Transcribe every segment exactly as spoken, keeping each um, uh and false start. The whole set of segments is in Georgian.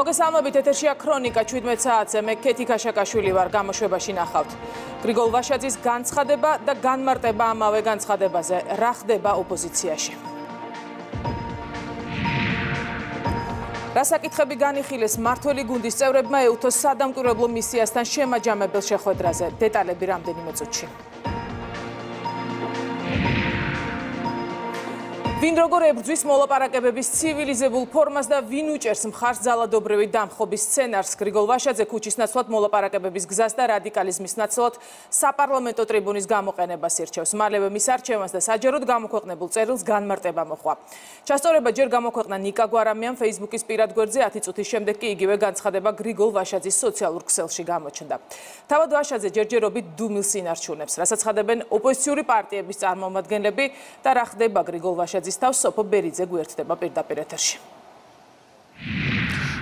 მოგესალმებით, ეთერშია ქრონიკა შვიდმეტ საათზე. მე ქეთი ქაშაკაშვილი ვარ, გამოშვებაში ნახავთ. გრიგოლ ვაშაძის განცხადება და განმარტება ამავე განცხადებაზე. რა ხდება ოპოზიციაში? რა საკითხები განიხილეს მმართველი გუნდის წევრებმა ეუთოს სადამკვირვებლო მისიასთან შემაჯამებელ შეხვედრაზე? დეტალები რამდენიმე წუთში. ვინ როგორ ებრძვის მოლაპარაკებების ცივილიზებულ ფორმას და ვინ უჭერს მხარს ძალადობრივი დამხობის სცენარს? გრიგოლ ვაშაძე ქუჩის ნაცვლად მოლაპარაკებების გზას და რადიკალიზმის ნაცვლად საპარლამენტო ტრიბუნის გამოყენებას ირჩევს. მალევე მის არჩევანს და საჯაროდ გამოქვეყნებულ წერილს განმარტება მოჰყვა. ჩასწორება ჯერ გამოქვეყნა ნიკა გვარამიამ Facebook-ის პირად გვერდზე, ათი წუთის შემდეგ კი იგივე განცხადება გრიგოლ ვაშაძის სოციალურ ქსელში გამოჩნდა. თავად ვაშაძე ჯერჯერობით დუმილს ინარჩუნებს, რასაც ხადებენ ოპოზიციური პარტიების წარმომადგენლები და რა ხდება გრიგოლ ვაშაძის თავს სოფო ბერიძე გვერდდება პირდაპირ ეთერში.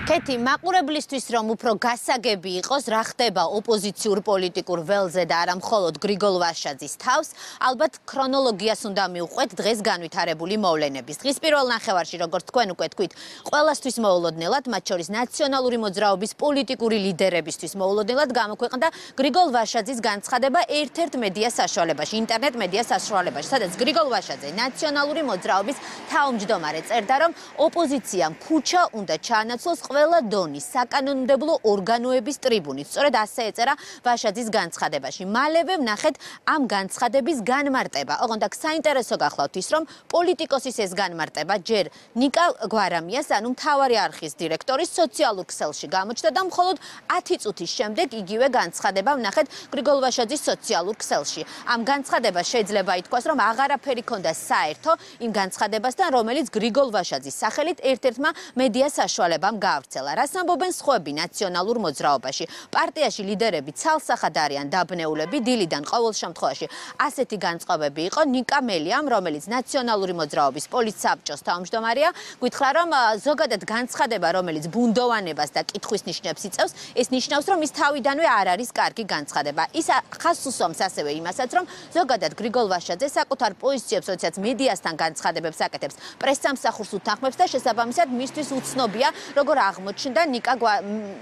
ქეთი, მაყურებლისთვის რომ უფრო გასაგები იყოს, რა ხდება ოპოზიციურ პოლიტიკურ ველზე და არა მხოლოდ გრიგოლ ვაშაძის თავს, ალბათ ქრონოლოგიას უნდა მივყვეთ დღეს განვითარებული მოვლენების. დღის პირველ ნახევარში, როგორც თქვენ უკვე თქვით, ყველასთვის მოულოდნელად, მათ შორის ნაციონალური მოძრაობის პოლიტიკური ლიდერებისთვის მოულოდნელად გამოქვეყნდა გრიგოლ ვაშაძის განცხადება ერთ-ერთ მედია საშუალებაში, ინტერნეტ მედია საშუალებაში, სადაც გრიგოლ ვაშაძე, ნაციონალური მოძრაობის თავმჯდომარე, წერდა, რომ ოპოზიციამ ქუჩა უნდა ჩაანაცვლოს ყველა დონის საკანონმდებლო ორგანოების ტრიბუნით. სწორედ ასე ეწერა ვაშაძის განცხადებაში. მალევე ვნახეთ ამ განცხადების განმარტება. ოღონდ აქ საინტერესო გახლავთ ის, რომ პოლიტიკოსის ეს განმარტება ჯერ ნიკა გვარამიას, ანუ მთავარი არხის დირექტორის სოციალურ ქსელში გამოჩნდა და მხოლოდ ათი წუთის შემდეგ იგივე განცხადება ვნახეთ გრიგოლ ვაშაძის სოციალურ ქსელში. ამ განცხადებას შეიძლება ითქვას, რომ აღარაფერი ქონდა საერთო იმ განცხადებასთან, რომელიც გრიგოლ ვაშაძის სახელით ერთ-ერთმა მედია საშუალებამ გაავრცელა. რას ამბობენ სხვები ნაციონალურ მოძრაობაში? პარტიაში ლიდერები ცალსახად არიან დაბნეულები, დილიდან ყოველ შემთხვევაში ასეთი განწყობები იყო ნიკა მელიამ, რომელიც ნაციონალური მოძრაობის პოლიტსაბჭოს თავმჯდომარეა, გითხრა, რომ ზოგადად განცხადება, რომელიც ბუნდოვანებას და კითხვის ნიშნებს იწევს, ეს ნიშნავს, რომ ის თავიდანვე არ არის კარგი განცხადება. ის ხაზს უსვამს ასევე იმასაც, რომ ზოგადად გრიგოლ ვაშაძე საკუთარ პოზიციებს, როდესაც მედიასთან განცხადებებს აკეთებს, პრესსამსახურს უთანხმებს და შესაბამისად მისთვის უცნობია, როგორ აღმოჩნდა ნიკა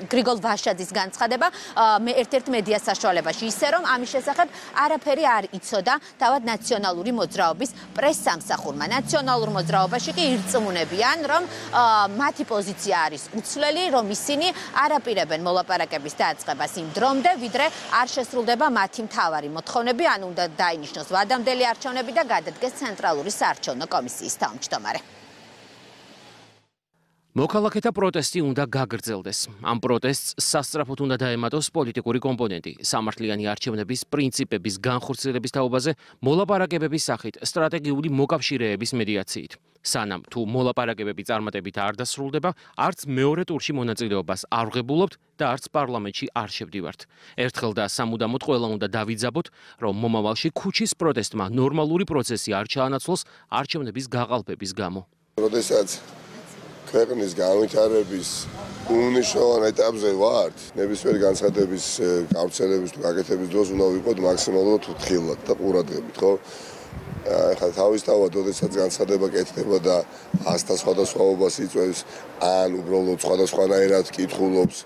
გრიგოლ ვაშაძის განცხადება ერთ-ერთ მედია საშუალებაში, ისე რომ ამის შესახებ არაფერი არ იცოდა თავად ნაციონალური მოძრაობის პრესსამსახურმა. ნაციონალურ მოძრაობაში კი ირწმუნებიან, რომ მათი პოზიცია არის უცვლელი, რომ ისინი არ აპირებენ მოლაპარაკების დაწყებას იმ დრომდე, ვიდრე არ შესრულდება მათი მთავარი მოთხოვნები, ანუ უნდა დაინიშნოს ვადამდელი არჩევნები და გადადგეს ცენტრალური საარჩევნო კომისიის თავმჯდომარე. მოქალაქეთა პროტესტი უნდა გაგრძელდეს. ამ პროტესტს სასწრაფოდ უნდა დაემატოს პოლიტიკური კომპონენტი. სამართლიანი არჩევნების პრინციპების განხორციელების თაობაზე მოლაპარაკებების სახით სტრატეგიული მოკავშირეების მედიაციით. სანამ თუ მოლაპარაკებები წარმატებით არ დასრულდება, არც მეორე ტურში მონაწილეობას არ ვღებულობთ და არც პარლამენტში არ შევდივართ. ერთხელ და სამუდამოდ ყველა უნდა დავიძაბოთ, რომ მომავალში ქუჩის პროტესტმა ნორმალური პროცესი არ ჩაანაცვლოს არჩევნების გაყალბების გამო. როდესაც ქვეყნის განვითარების უმნიშვნელოვან ეტაპზე ვართ, ნებისმიერი განცხადების გავრცელების თუ გაკეთების დროს უნდა ვიყოთ მაქსიმალურად უთხილად და ყურადღებით, ხო? ახლა თავისთავად, როდესაც განცხადება კეთდება და ასთა სხვადასხვაობას იწვევს, ან უბრალოდ სხვადასხვანაირად კითხულობს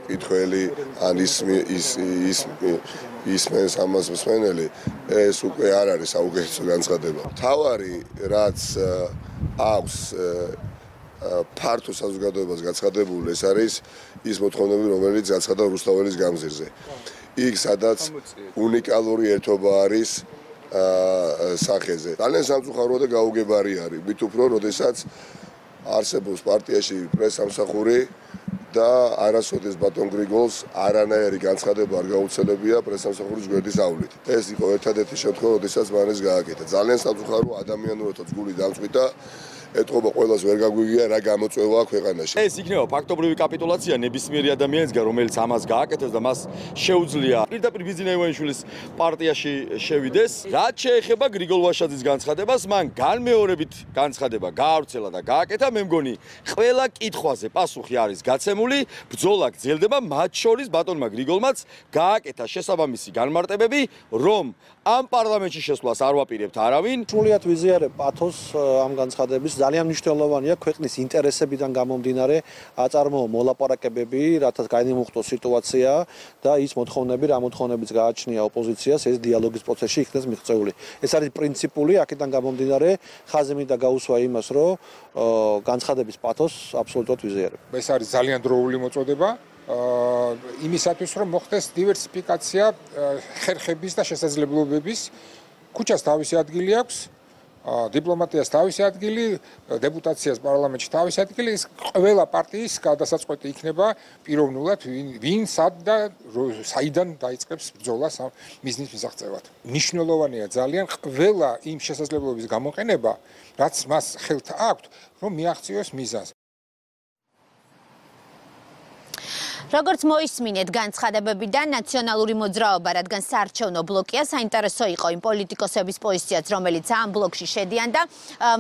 კითხველი, ან ისმენს ამას მსმენელი, ეს უკვე არ არის საუკეთესო განცხადება. მთავარი, რაც აქვს ფართო საზოგადოებას გაცხადებული, ეს არის ის მოთხოვნები, რომელიც გაცხადდა რუსთაველის გამზირზე. იქ სადაც უნიკალური ერთობა არის სახეზე. ძალიან სამწუხაროა და გაუგებარი არის. მით უფრო, როდესაც არსებობს პარტიაში პრესსამსახური და არასოდეს ბატონ გრიგოლს არანაირი განცხადება არ გაუცელებია პრესსამსახურის გვერდის ავლით. ეს იყო ერთადერთი შემთხვევა, როდესაც მან ეს გააკეთა. ძალიან სამწუხაროა, ადამიანურადაც გული დამწვიდა. ეთყობა ყველას ვერ გაგვიგია რა გამოწვევა ქვეყანაში. ეს იქნება ფაქტობრივი კაპიტულაცია ნებისმიერი ადამიანისგან, რომელიც ამას გააკეთებს და მას შეუძლია პირდაპირ ბიზნეს ივანიშვილის პარტიაში შევიდეს. რაც შეეხება გრიგოლ ვაშაძის განცხადებას, მან განმეორებით განცხადება გაავრცელა და გააკეთა. მე მგონი ყველა კითხვაზე პასუხი არის გაცემული, ბრძოლა გრძელდება, მათ შორის ბატონმა გრიგოლმაც გააკეთა შესაბამისი განმარტებები, რომ ამ პარლამენტში შესვლას არ ვაპირებთ არავინ. სრულიად ვიზიარებ პათოს ამ განცხადების ძალიან მნიშვნელოვანია ქვეყნის ინტერესებიდან გამომდინარე აწარმოო მოლაპარაკებები, რათაც გაიმუხტოს სიტუაცია და ის მოთხოვნები, რა მოთხოვნებიც გააჩნია ოპოზიციას, ეს დიალოგის პროცესში იქნეს მიღწეული. ეს არის პრინციპული, აქედან გამომდინარე ხაზი მინდა გაუსვა იმას, რომ განცხადების პათოსს აბსოლუტურად ვიზიარებ. ეს არის ძალიან დროული მოწოდება. იმისათვის რომ მოხდეს დივერსიფიკაცია ხერხების და შესაძლებლობების, ქუჩას თავისი ადგილი აქვს, დიპლომატიას თავისი ადგილი, დეპუტაციას პარლამენტში თავისი ადგილი, ეს ყველა პარტიის გადასაწყვეტი იქნება პიროვნულად, ვინ სად და საიდან დაიწყებს ბრძოლას ამ მიზნის მისაღწევად. მნიშვნელოვანია ძალიან ყველა იმ შესაძლებლობების გამოყენება, რაც მას ხელთ აქვთ, რომ მიაღწიოს მიზანს. როგორც მოისმინეთ განცხადებებიდან, ნაციონალური მოძრაობა, რადგან საარჩევნო ბლოკია, საინტერესო იყო იმ პოლიტიკოსების პოზიციაც, რომელიც ამ ბლოკში შედიან და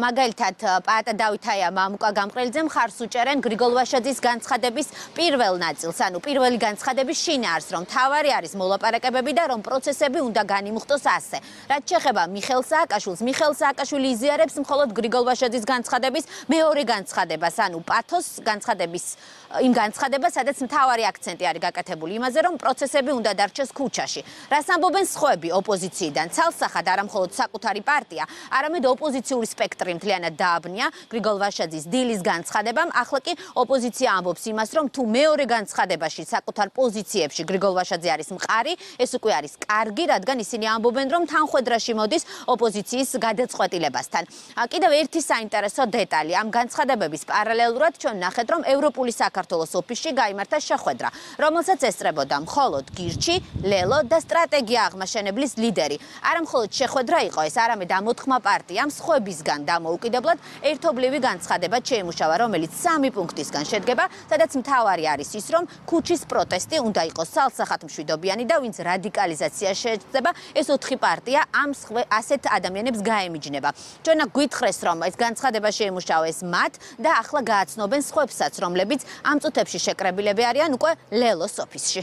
მაგალითად პაატა დავითაია მამუკა გამყრელიძე მხარს უჭერენ გრიგოლ ვაშაძის განცხადების პირველ ნაწილს, ანუ პირველი განცხადების შინაარსს, რომ თავარი არის მოლაპარაკებები და რომ პროცესები უნდა განიმუხტოს ასე. რაც შეეხება მიხეილ სააკაშვილს, მიხეილ სააკაშვილი იზიარებს მხოლოდ გრიგოლ ვაშაძის განცხადების მეორე განცხადებას, ანუ პათოს განცხადების იმ განცხადებას, სადაც მთავარი აქცენტი არის გაკეთებული იმაზე, რომ პროცესები უნდა დარჩეს ქუჩაში. რას ამბობენ სხვები ოპოზიციიდან? ცალსახად არა მხოლოდ საკუთარი პარტია, არამედ ოპოზიციური სპექტრი მთლიანად დააბნია გრიგოლ ვაშაძის დილის განცხადებამ. ახლა კი ოპოზიცია ამბობს იმას, რომ თუ მეორე განცხადებაში საკუთარ პოზიციებში გრიგოლ ვაშაძე არის მყარი, ეს უკვე არის კარგი, რადგან ისინი ამბობენ, რომ თანხვედრაში მოდის ოპოზიციის გადაწყვეტილებასთან. კიდევ ერთი საინტერესო დეტალი, ამ განცხადებების პარალელურად ჩვენ ნახეთ, რომ ევროპული საქართველოს ოფისში გაიმართა შეხვედრა, რომელსაც ესწრებოდა მხოლოდ გირჩი, ლელო და სტრატეგია აღმაშენებლის ლიდერი. არა მხოლოდ შეხვედრა იყო ეს, არამედ ამ ოთხმა პარტიამ სხვებისგან დამოუკიდებლად ერთობლივი განცხადება შეიმუშავა, რომელიც სამი პუნქტისგან შედგება, სადაც მთავარი არის ის, რომ ქუჩის პროტესტი უნდა იყოს სალსახად მშვიდობიანი და ვინც რადიკალიზაცია შეეცდება, ეს ოთხი პარტია ამ ასეთ ადამიანებს გაემიჯნება. ჩვენ გვითხრეს, რომ ეს განცხადება შეიმუშავეს მათ და ახლა გააცნობენ სხვებსაც, რომლებიც ამ წუთებში შეკრებილები არიან უკვე ლელოს ოფისში.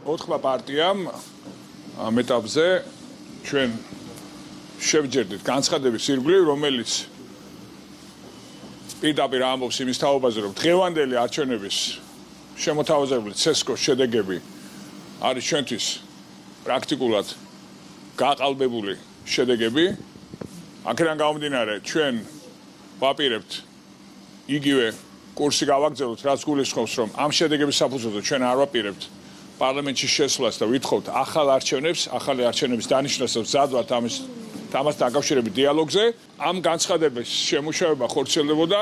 ოთხმა პარტიამ ამ ეტაპზე ჩვენ შევჯერდით განცხადების ირგვლივ, რომელიც პირდაპირ ამბობს იმის თაობაზე, რომ დღევანდელი არჩევნების შემოთავაზებული ცესკოს შედეგები არის ჩვენთვის პრაქტიკულად გაყალბებული შედეგები. აქედან გამომდინარე, ჩვენ ვაპირებთ იგივე კურსი გავაგრძელოთ, რაც გულისხმობს, რომ ამ შედეგების საფუძველზე ჩვენ არ ვაპირებთ პარლამენტში შესვლას და ვითხოვთ ახალ არჩევნებს, ახალი არჩევნების დანიშნას და მზადვართ ამის ამასთან დაკავშირებით დიალოგზე. ამ განცხადების შემუშავება ხორციელდებოდა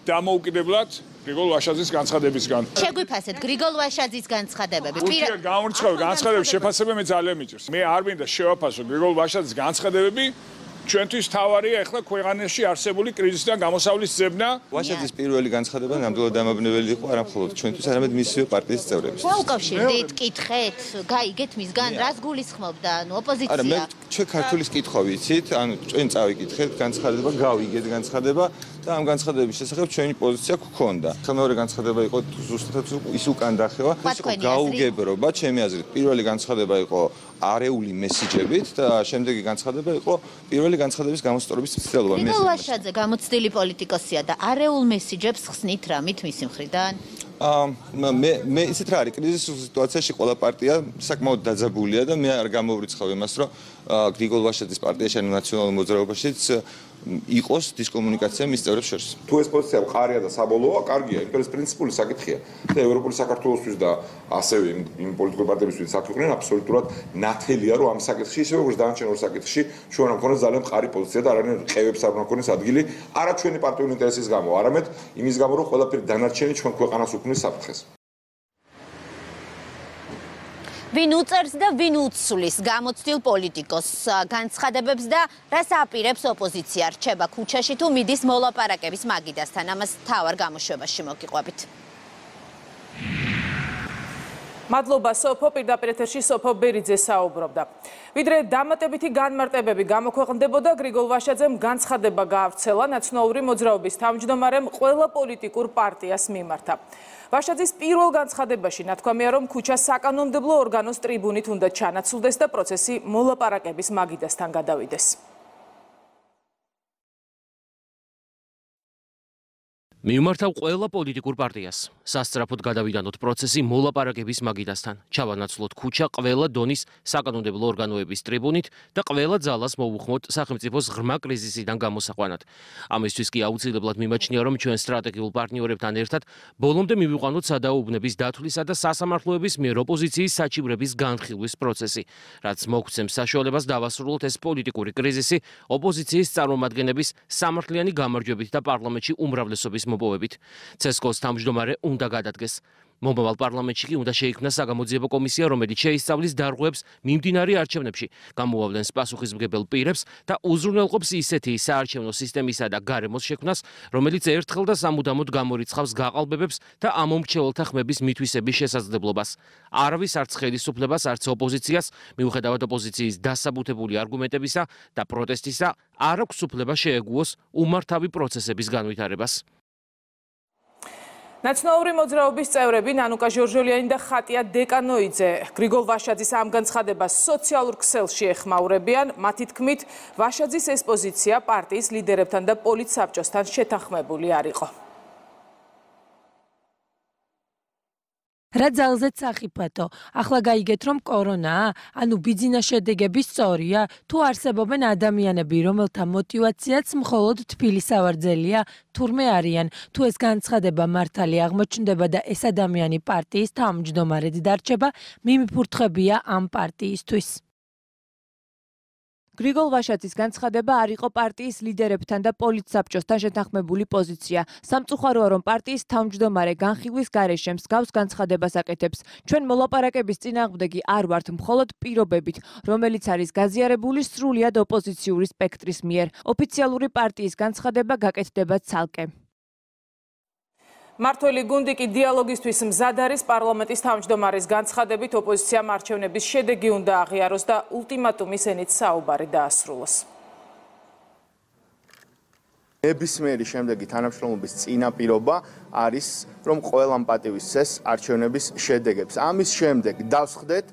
დამოუკიდებლად გრიგოლ ვაშაძის განცხადებისგან. შეგვიფასეთ გრიგოლ ვაშაძის განცხადებები. პირდაპირ გამორჩეულ განცხადების შეფასება მე ძალიან მიჭირს. მე არ მინდა შევაფასო გრიგოლ ვაშაძის განცხადებები. ჩვენთვის თავარია ახლა ქვეყანაში არსებული კრიზისიდან გამოსავლის ძებნა. ვაშაძის პირველი განცხადება ნამდვილად დამაბნეველი იყო არა მხოლოდ ჩვენთვის, არამედ მისივე პარტიის წევრებისთვის. რა უკავშირდით, კითხეთ, გაიგეთ მისგან, რას გულისხმობდა, ანუ ოპოზიცია? არა, მე ჩვენ ქართულის კითხვა ვიცით, ანუ ჩვენ წავიკითხეთ განცხადება, გავიგეთ განცხადება და ამ განცხადების შესახებ ჩვენი პოზიცია გქონდა. მეორე განცხადება იყო ზუსტად ის უკან დახევა, ეს იყო გაუგებრობა, ჩემი აზრით. პირველი განცხადება იყო არეული მესიჯებით და შემდეგი განცხადება იყო პირველი განცხადების გამოსწორების ცდილობა. გრიგოლ ვაშაძე გამოცდილი პოლიტიკოსია დაარეულ მესიჯებს ხსნით რამით მისი მხრიდან? მე მე ისეთ რა არის კრიზისის სიტუაციაში ყველა პარტია საკმაოდ დაძაბულია და მე არ გამოვრიცხავ იმას, რომ გრიგოლ ვაშაძის პარტიაში ან ნაციონალურ მოძრაობაშიც იყოს დისკომუნიკაცია მის წევრებს შორის. თუ ეს პოზიცია მყარია და საბოლოოა, კარგია, იმიტომ რომ ეს პრინციპული საკითხია. და ევროპული საქართველოსთვის და ასევე იმ პოლიტიკურ პარტიებისთვის საქმენენ აბსოლუტურად ნათელია, რომ ამ საკითხში, ისე როგორც დანარჩენ ორ საკითხში, ჩვენ არ მქონდეს ძალიან მყარი პოზიცია და არანაირ ყევებს არ მქონდეს ადგილი, არა ჩვენი პარტიული ინტერესის გამო, არამედ იმის გამო, რომ ყველაფერი დანარჩენი ჩვენ ქვეყანას უქმნის საფრთხეს. ვინ უწერს და ვინ უცვლის გამოცდილ პოლიტიკოსს განცხადებებს და რას აპირებს ოპოზიცია რჩება ქუჩაში თუ მიდის მოლაპარაკების მაგიდასთან, ამას თავარ გამოშვებაში მოგიყვებით. მადლობა სოფო, პირდაპირ ეთერში სოფო ბერიძე საუბრობდა. ვიდრე დამატებითი განმარტებები გამოქვეყნდებოდა, გრიგოლ ვაშაძემ განცხადება გაავრცელა ნაციონალური მოძრაობის თავმჯდომარემ ყველა პოლიტიკურ პარტიას მიმართა. ვაშაძის პირველ განცხადებაში ნათქვამია, რომ ქუჩა საკანონმდებლო ორგანოს ტრიბუნით უნდა ჩანაცვლდეს და პროცესი მოლაპარაკების მაგიდასთან გადავიდეს. მიუმართავ ყველა პოლიტიკურ პარტიას. სასწრაფოდ გადავიდანოთ პროცესი მოლაპარაკების მაგიდასთან. ჩავანაცვლოთ ქუჩა ყველა დონის საკანონმდებლო ორგანოების ტრიბუნით და ყველა ძალას მოვუხმოთ სახელმწიფოს ღრმა კრიზისიდან გამოსაყვანად. ამისთვის კი აუცილებლად მიმაჩნია, რომ ჩვენ სტრატეგიულ პარტნიორებთან ერთად ბოლომდე მივიყვანოთ სადაუბნების დათვლისა და სასამართლოების მიერ ოპოზიციის საჩივრების განხილვის პროცესი, რაც მოგვცემს საშუალებას დავასრულოთ ეს პოლიტიკური კრიზისი ოპოზიციის წარმომადგენლების სამართლიანი გამარჯვებით და პარლამენტში უმრავლესობის მოპოვებით. ცესკოს თავმჯდომარე უნდა გადადგეს. მომავალ პარლამენტში კი უნდა შეიქმნას საგამოძიებო კომისია, რომელიც შეისწავლის დარღვევებს მიმდინარე არჩევნებში, გამოავლენს პასუხისმგებელ პირებს და უზრუნველყოფს ისეთი საარჩევნო სისტემისა და გარემოს შექმნას, რომელიც ერთხელ და სამუდამოდ გამორიცხავს გაყალბებებს და ამომრჩეველთა ხმების მითვისების შესაძლებლობას. არავის არც ხელისუფლებას, არც ოპოზიციას, მიუხედავად ოპოზიციის დასაბუთებული არგუმენტებისა და პროტესტისა, არ აქვს უფლება შეეგუოს უმართავი პროცესების განვითარებას. ნაცნობური მოძრაობის წევრები ნანუკა ჟორჟოლიანი და ხატია დეკანოიძე გრიგოლ ვაშაძის ამ განცხადებას სოციალურ ქსელში ეხმაურებიან. მათი თქმით, ვაშაძის ეს პოზიცია პარტიის ლიდერებთან და პოლიტსაბჭოსთან შეთანხმებული არ იყო. რა ძალზეც სახიფათო, ახლა გაიგეთ რომ კორონაა, ანუ ბიძინა შედეგები სწორია, თუ არსებობენ ადამიანები, რომელთა мотиваციაც მხოლოდ თბილი სავარძელია, თურმე არიან, თუ ეს განცხადება მართალი აღმოჩნდება და ეს ადამიანი პარტიის თავმჯდომარედ დარჩება, მიმიფურთხებია ამ პარტიისთვის. გრიგოლ ვაშაძის განცხადება არ იყო პარტიის ლიდერებთან და პოლიტსაბჭოსთან შეთანხმებული პოზიცია. სამწუხაროა, რომ პარტიის თავმჯდომარე განხილვის გარეშე მსგავს განცხადებას აკეთებს. ჩვენ მოლაპარაკების წინააღმდეგი არ ვართ მხოლოდ პირობებით, რომელიც არის გაზიარებული სრულიად ოპოზიციური სპექტრის მიერ. ოფიციალური პარტიის განცხადება გაკეთდება ცალკე. მართველი გუნდი კი დიალოგისთვის მზად არის. პარლამენტის თავმჯდომარის განცხადებით ოპოზიციამ არჩევნების შედეგი უნდა აღიაროს და ულტიმატუმის ენით საუბარი დაასრულოს. ნებისმიერი შემდეგი თანამშრომლობის წინაპირობა არის, რომ ყველამ პატივისცეს არჩევნების შედეგებს. ამის შემდეგ დავსხდეთ,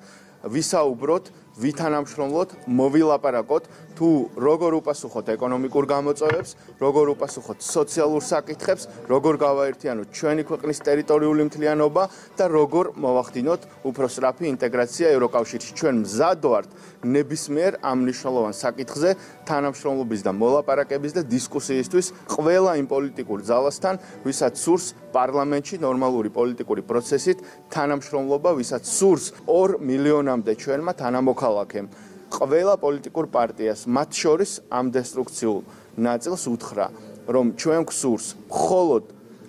ვისაუბროთ, ვითანამშრომლოთ, მოვილაპარაკოთ, თუ როგორ უპასუხოთ ეკონომიკურ გამოწვევებს, როგორ უპასუხოთ სოციალურ საკითხებს, როგორ გავაერთიანოთ ჩვენი ქვეყნის ტერიტორიული მთლიანობა და როგორ მოვახდინოთ უფრო სწრაფი ინტეგრაცია ევროკავშირში. ჩვენ მზად ვართ ნებისმიერ ამ მნიშვნელოვან საკითხზე თანამშრომლობის და მოლაპარაკების და დისკუსიისთვის ყველა იმ პოლიტიკურ ძალასთან, ვისაც სურს პარლამენტში ნორმალური პოლიტიკური პროცესით თანამშრომლობა, ვისაც სურს ორ მილიონამდე ჩვენმა თანამოქალაქემ. ყველა პოლიტიკურ პარტიას, მათ შორის ამ დესტრუქციულ ნაწილს უთხრა, რომ ჩვენ გვსურს მხოლოდ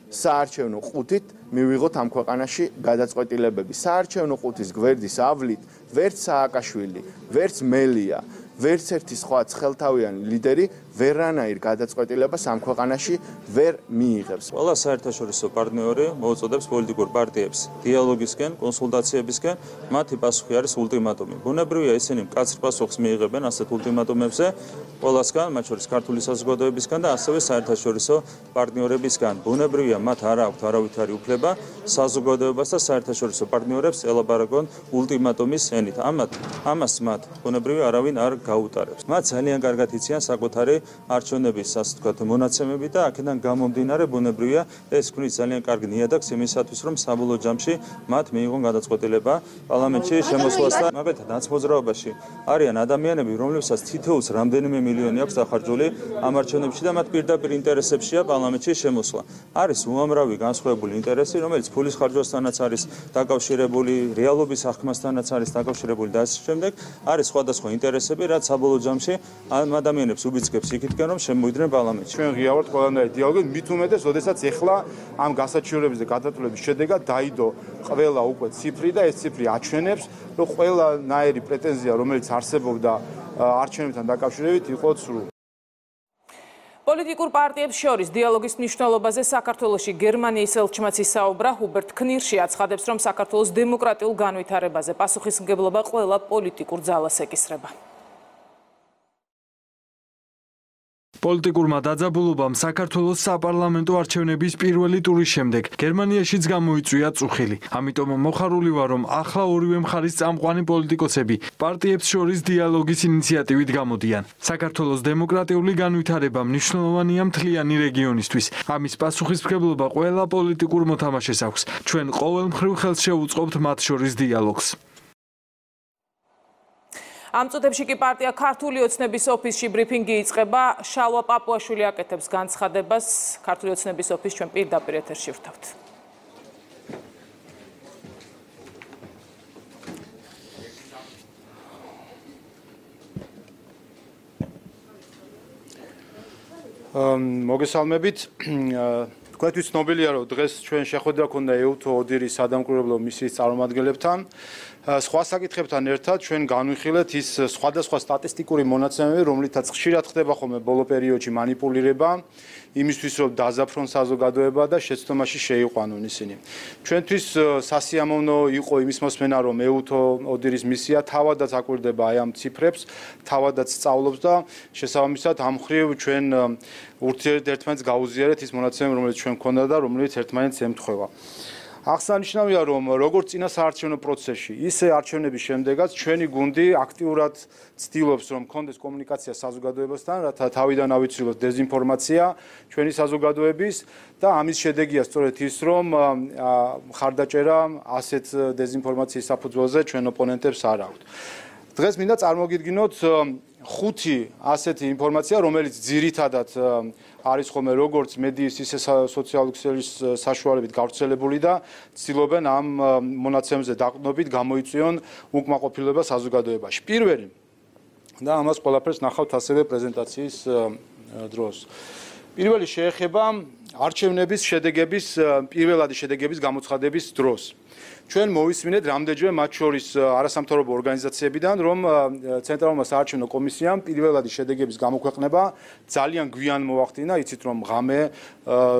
საარჩევნო ყუთით მივიღოთ ამ ქვეყანაში გადაწყვეტილებები. საარჩევნო ყუთის გვერდის ავლით ვერც სააკაშვილი, ვერც მელია, ვერც ერთი სხვა ცხელთავიანი ლიდერი ვერანაირ გადაწყვეტილებას ამ ქვეყანაში ვერ მიიღებს. ყველა საერთაშორისო პარტნიორი მოუწოდებს პოლიტიკურ პარტიებს დიალოგისკენ, კონსულტაციებისკენ, მათი პასუხი არის ულტიმატუმი. ბუნებრივია ისინი მკაცრ პასუხს მიიღებენ ასეთ ულტიმატუმებზე ყველასგან, მათ შორის ქართული საზოგადოებისგან და ასევე საერთაშორისო პარტნიორებისგან. ბუნებრივია მათ არ აქვთ არავითარი უფლება საზოგადოებას და საერთაშორისო პარტნიორებს ელაპარაკონ ულტიმატუმის ენით. ამათ ამას მათ ბუნებრივია არავინ არ გაუტარებს. მათ ძალიან კარგად იციან საკუთარი არჩევნების ასე ვთქვათ მონაცემები და აქედან გამომდინარე ბუნებრივია ეს ქმნის ძალიან კარგ ნიადაგს იმისათვის რომ საბოლოო ჯამში მათ მიიღონ გადაწყვეტილება პარლამენტში შემოსვლასთან. მაგალითად ნაცმოძრაობაში არიან ადამიანები, რომლებსაც თითოეულს რამდენიმე მილიონი აქვს დახარჯული ამ არჩევნებში და მათ პირდაპირ ინტერესებშია პარლამენტში შემოსვლა. არის უამრავი განსხვავებული ინტერესი, რომელიც ფულის ხარჯვასთანაც არის დაკავშირებული, რეალობის აღქმასთანაც არის დაკავშირებული და ასე შემდეგ. არის სხვადასხვა ინტერესები, რაც საბოლოო ჯამში ამ ადამიანებს უბიძგებს იქითკენ რომ შემოვიდნენ პარლამენტში. ჩვენ ღიავართ ყველანაირი დიალოგი, მით უმეტეს, როდესაც ეხლა ამ გასაჩივრების და გადაწყვეტილების შედეგად დაიდო ყველა უკვე ციფრი და ეს ციფრი აჩვენებს, რომ ყველანაირი პრეტენზია, რომელიც არსებობდა არჩევნებთან დაკავშირებით, იყო ცრუ. პოლიტიკურ პარტიებს შორის დიალოგის მნიშვნელობაზე საქართველოში გერმანიის ელჩმაც ისაუბრა. ჰუბერტ knirši აცხადებს, რომ საქართველოს დემოკრატიულ განვითარებაზე პასუხისმგებლობა ყველა პოლიტიკურ ძალას ეკისრება. პოლიტიკურმა დაძაბულობამ საქართველოს საპარლამენტო არჩევნების პირველი ტურის შემდეგ გერმანიაშიც გამოიწვია წუხილი. ამიტომ მოხარული ვარ, რომ ახლა ორივე მხარის წამყვანი პოლიტიკოსები პარტიებს შორის დიალოგის ინიციატივით გამოდიან. საქართველოს დემოკრატიული განვითარება მნიშვნელოვანია მთლიანი რეგიონისთვის. ამის პასუხისმგებლობა ყველა პოლიტიკურ მოთამაშეს აქვს. ჩვენ ყოველმხრივ ხელს შევუწყობთ მათ შორის დიალოგს. ამ წუთებში კი პარტია ქართული ოცნების ოფისში ბრიფინგი იწყება. შალვა პაპუაშვილი აკეთებს განცხადებას. ქართული ოცნების ოფისს ჩვენ პირდაპირ ეთერში ვრთავთ. მოგესალმებით. თქვენთვის ცნობილია, რომ დღეს ჩვენ შეხვედრა ქონდა ეუთო ოდირის სადამკვირვებლო მისიის წარმომადგენლებთან. სხვა საკითხებთან ერთად ჩვენ განვიხილეთ ის სხვადასხვა სტატისტიკური მონაცემები, რომლითაც ხშირად ხდება ხოლმე ბოლო პერიოდში манипуლირება იმისთვის, რომ დაზაფრონ საზოგადოება და შეცდომაში შეიყვანონ ისინი. ჩვენთვის სასიამოვნო იყო იმის მოსმენა, რომ ეუთო ოდირის მისია თავადაც აკვირდება აი ამ ციფრებს, თავადაც სწავლობს და შესაბამისად ამ მხრივ ჩვენ ურთიერთერთმანეთს გაუზიარეთ ის მონაცემები, რომელიც ჩვენ გქონდა და რომელიც ერთმანეთს ემთხვევა. აღსანიშნავია, რომ როგორც წინა საარჩევნო პროცესში, ისე არჩევნების შემდეგაც ჩვენი გუნდი აქტიურად ცდილობს, რომ კონდეს კომუნიკაცია საზოგადოებასთან, რათა თავიდან ავიცილოთ დეზინფორმაცია ჩვენი საზოგადოების და ამის შედეგია სწორედ ის, რომ მხარდაჭერა ასეთ დეზინფორმაციის საფუძველზე ჩვენ ოპონენტებს არ აქვთ. დღეს მინდა წარმოგიდგინოთ ხუთი ასეთი ინფორმაცია, რომელიც ძირითადად არის ხოლმე როგორც მედიის, ისე სოციალური ქსელის საშუალებით გავრცელებული და ცდილობენ ამ მონაცემებზე დაყრდნობით გამოიწვიონ უკმაყოფილება საზოგადოებაში. პირველი და ამას ყველაფერს ნახავთ ასევე პრეზენტაციის დროს. პირველი შეეხება არჩევნების შედეგების პირველადი შედეგების გამოცხადების დროს. ჩვენ მოვისმინეთ რამდენჯერმე მათ შორის არასამთავრობო ორგანიზაციებიდან, რომ ცენტრალურმა საარჩევნო კომისიამ პირველადი შედეგების გამოქვეყნება ძალიან გვიან მოახდინა, იცით რომ ღამე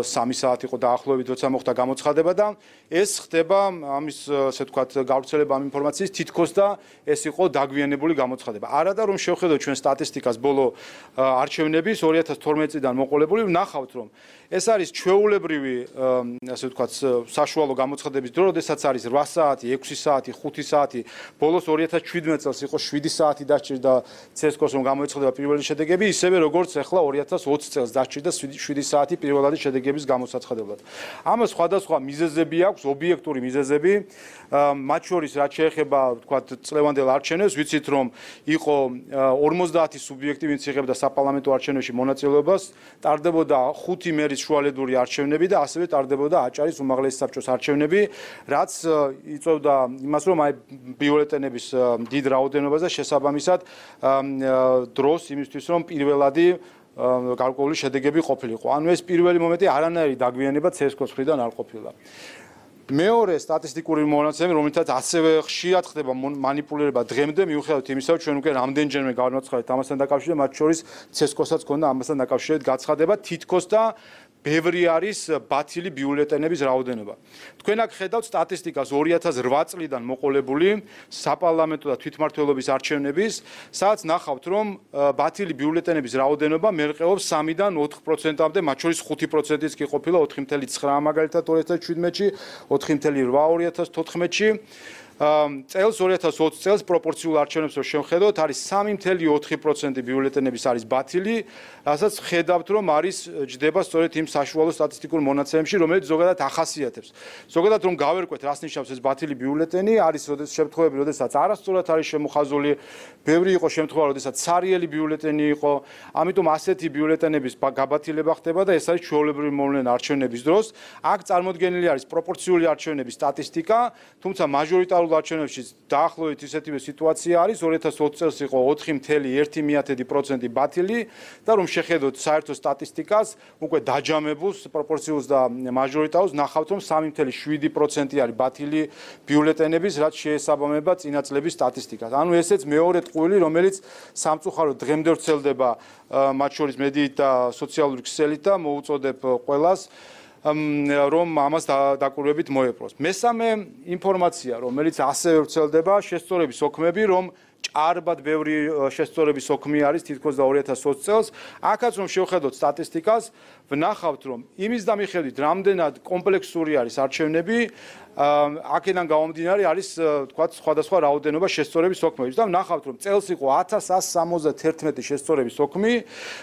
სამი საათი იყო დაახლოებით, როცა მოხდა გამოცხადება და ეს ხდება ამის ასე ვთქვათ გავრცელება ამ ინფორმაციის თითქოს და ეს იყო დაგვიანებული გამოცხადება. არადა რომ შევხედოთ ჩვენ სტატისტიკას ბოლო არჩევნების ორი ათას თორმეტი წლიდან მოყოლებული, ვნახავთ რომ ეს არის ჩვეულებრივი ასე ვთქვათ საშუალო გამოცხადების დრო, როდესაც არის რვა საათი, ექვსი საათი, ხუთი საათი, ბოლოს ორი ათას შვიდმეტ წელს იყო შვიდი საათი დასჭირდა ცესკოს რომ გამოეცხადება პირველი შედეგები, ისევე როგორც ახლა ორი ათას ოცი წელს დასჭირდა შვიდი საათი პირველადი შედეგების გამოსაცხადებლად. ამას სხვადასხვა მიზეზები აქვს, ობიექტური მიზეზები, მათ შორის რაც შეეხება ვთქვათ წლევანდელ არჩევნებს, ვიცით რომ იყო ორმოცდაათი სუბიექტი, ვინც იღებდა საპარლამენტო არჩევნებში მონაწილეობას, ტარდებოდა ხუთი მერის შუალედური არჩევნები და ასევე ტარდებოდა აჭარის უმაღლესი საბჭოს არჩევნები, რაც იწვევდა იმას, რომ აი ბიულეტენების დიდ რაოდენობას და შესაბამისად დროს იმისთვის, რომ პირველადი გარკვეული შედეგები ყოფილიყო. ანუ ეს პირველი მომენტი არანაირი დაგვიანება ცესკოს მხრიდან არ ყოფილა. მეორე სტატისტიკური მონაცემები, რომელთაც ასევე ხშირად ხდება манипуლირება დღემდე, მიუხედავად იმისა, რომ ჩვენ უკვე რამდენჯერმე განვაცხადეთ ამასთან დაკავშირებით, მათ შორის ცესკოსაც ქონდა ამასთან დაკავშირებით გაცხადება, თითქოს და ბევრი არის ბათილი ბიულეტენების რაოდენობა. თქვენ აქ ხედავთ სტატისტიკას ორი ათას რვა წლიდან მოყოლებული საპარლამენტო და თვითმმართველობის არჩევნების, სადაც ნახავთ, რომ ბათილი ბიულეტენების რაოდენობა მერყეობს სამიდან ოთხ პროცენტამდე, მათ შორის ხუთი პროცენტიც კი ყოფილა ოთხი კoma ცხრა მაგალითად ორი ათას შვიდმეტში, ოთხი კoma რვა ორი ათას თოთხმეტში. წელს ორი ათას ოცი წელს პროპორციულ არჩევნებს რო შევხედოთ, არის სამი კoma ოთხი პროცენტი ბიულეტენების არის ბათილი, რასაც ხედავთ, რომ არის ჯდება სწორედ იმ საშუალო სტატისტიკურ მონაცემებში, რომელიც ზოგადად ახასიათებს. ზოგადად რომ გავერკვეთ, რას ნიშნავს ეს ბათილი ბიულეტენი, არის როდეს შემთხვევები, როდესაც არასწორად არის შემოხაზული, ბევრი იყო შემთხვევა, როდესაც სარიელი ბიულეტენი იყო, ამიტომ ასეთი ბიულეტენების გაბათილება ხდება და ეს არის ჩვეულებრივი მოვლენა არჩევნების დროს. აქ წარმოდგენილი არის პროპორციული არჩევნების სტატისტიკა, თუმცა მაჟორიტარულ არჩევნებში დაახლოებით ისეთივე სიტუაცია არის, ორი ათას ოცი წელს იყო ოთხი კoma ერთი პროცენტი ბათილი და რომ შეხედოთ საერთო სტატისტიკას, უკვე დაჯამებულს, პროპორციულს და მაჟორიტარულს ნახავთ, რომ სამი კoma შვიდი პროცენტი არის ბათილი ბიულეტენების, რაც შეესაბამება წინა წლების სტატისტიკას. ანუ ესეც მეორე ტყუილი, რომელიც სამწუხაროდ დღემდე ვრცელდება მათ შორის მედიით და სოციალური ქსელით და მოუწოდებ ყველას რომ ამას დაკვირვებით მოეპყროს. მესამე ინფორმაცია, რომელიც ასევე ვრცელდება, შესწორების ოქმები, რომ ჭარბად ბევრი შესწორების ოქმი არის თითქოს და ორი ათას ოცი წელს. აქაც რომ შევხედოთ სტატისტიკას, ვნახავთ რომ იმის და მიხედვით რამდენად კომპლექსური არის არჩევნები, აქედან გამომდინარე არის თქვათ სხვადასხვა რაოდენობა შესწორების ოქმების და ვნახავთ რომ წელს იყო ათას ასი სამოცდათერთმეტი შესწორების ოქმი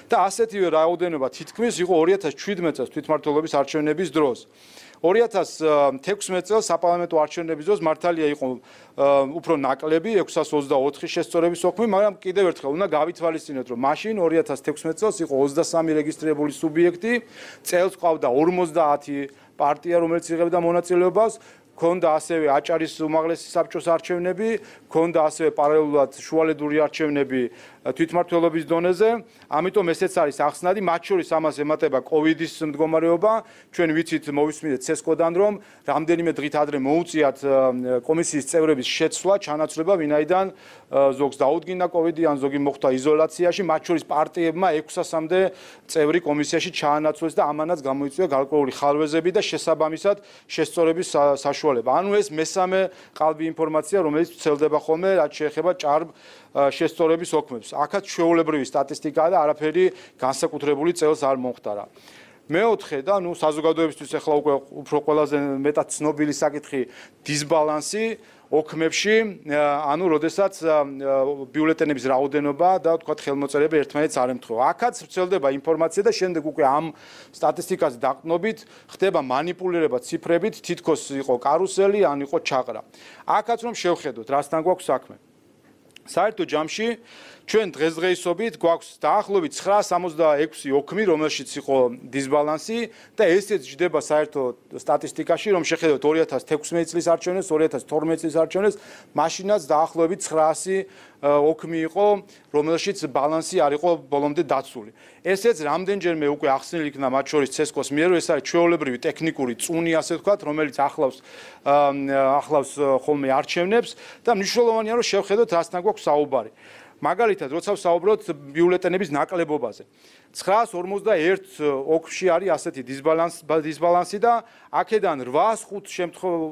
და ასეთივე რაოდენობა თითქმის იყო ორი ათას შვიდმეტ წელს თვითმმართველობის არჩევნების დროს. ორი ათას თექვსმეტ წელს საპარლამენტო არჩევნების დროს მართალია იყო უფრო ნაკლები ექვსას ოცდაოთხი შესწორების ოქმი, მაგრამ კიდევ ერთხელ უნდა გავითვალისწინოთ, რომ მაშინ ორი ათას თექვსმეტ წელს იყო ოცდასამი რეგისტრირებული სუბიექტი, წელს ყავდა ორმოცდაათი პარტია, რომელიც იღებდა მონაწილეობას, ქონდა ასევე აჭარის უმაღლესი საბჭოს არჩევნები, ქონდა ასევე პარალელურად შუალედური არჩევნები თვითმმართველობის დონეზე, ამიტომ ესეც არის ახსნადი, მათ შორის ამას ემატება კოვიდის მდგომარეობა, ჩვენ ვიცით მოვისმინეთ ცესკოდან, რომ რამდენიმე დღით ადრე მოუწიათ კომისიის წევრების შეცვლა, ჩანაცვლება, ვინაიდან ზოგს დაუდგინდა კოვიდი, ან ზოგი მოხვდა იზოლაციაში, მათ შორის პარტიებმა ექვსასამდე წევრი კომისიაში ჩაანაცვლეს და ამანაც გამოიწვია გარკვეული ხარვეზები და შესაბამისად შესწორების საშუალება. ანუ ეს მესამე ყალბი ინფორმაცია, რომელიც ვრცელდება ხოლმე, რაც შეეხება ჭარბ შესწორების ოქმებს. აქაც ჩვეულებრივი სტატისტიკაა და არაფერი განსაკუთრებული წელს არ მომხდარა. მეოთხე და ნუ საზოგადოებისთვის ახლა უკვე უფრო ყველაზე მეტად ცნობილი საკითხი დისბალანსი ოქმებში, ანუ როდესაც ბიულეტენების რაოდენობა და თქვათ ხელმოწერები ერთმანეთს არ ემთხვევა. აქაც ვრცელდება ინფორმაცია და შემდეგ უკვე ამ სტატისტიკაზე დაყრდნობით ხდება манипуლირება ციფრებით, თითქოს იყო კარუსელი, ან იყო ჩაყრა. აქაც რომ შევხედოთ, რასთან გვაქვს საქმე. საერთო ჯამში ჩვენ დღესდღეობით გვაქვს დაახლოებით ცხრა სამოცდაექვსი ოქმი, რომელშიც იყო დისბალანსი და ესეც ჯდება საერთო სტატისტიკაში, რომ შეხედოთ ორი ათას თექვსმეტი წლის არჩევნებს, ორი ათას თორმეტი წლის არჩევნებს, მაშინაც დაახლოებით ცხრაასი ოქმი იყო, რომელშიც ბალანსი არ იყო ბოლომდე დაცული. ესეც რამდენჯერმე უკვე ახსნილი იქნა მათ შორის ცესკოს მიერ, ეს არის ჩვეულებრივი ტექნიკური წუნი, ასე ვთქვათ, რომელიც ახლავს ახლავს ხოლმე არჩევნებს და მნიშვნელოვანია რომ შევხედოთ რასთან გვაქვს საუბარი. მაგალითად, როცა ვსაუბრობთ ბიულეტენების ნაკლებობაზე. ცხრაას ორმოცდაერთი ოქში არის ასეთი დისბალანსი და აქედან რვაას ხუთ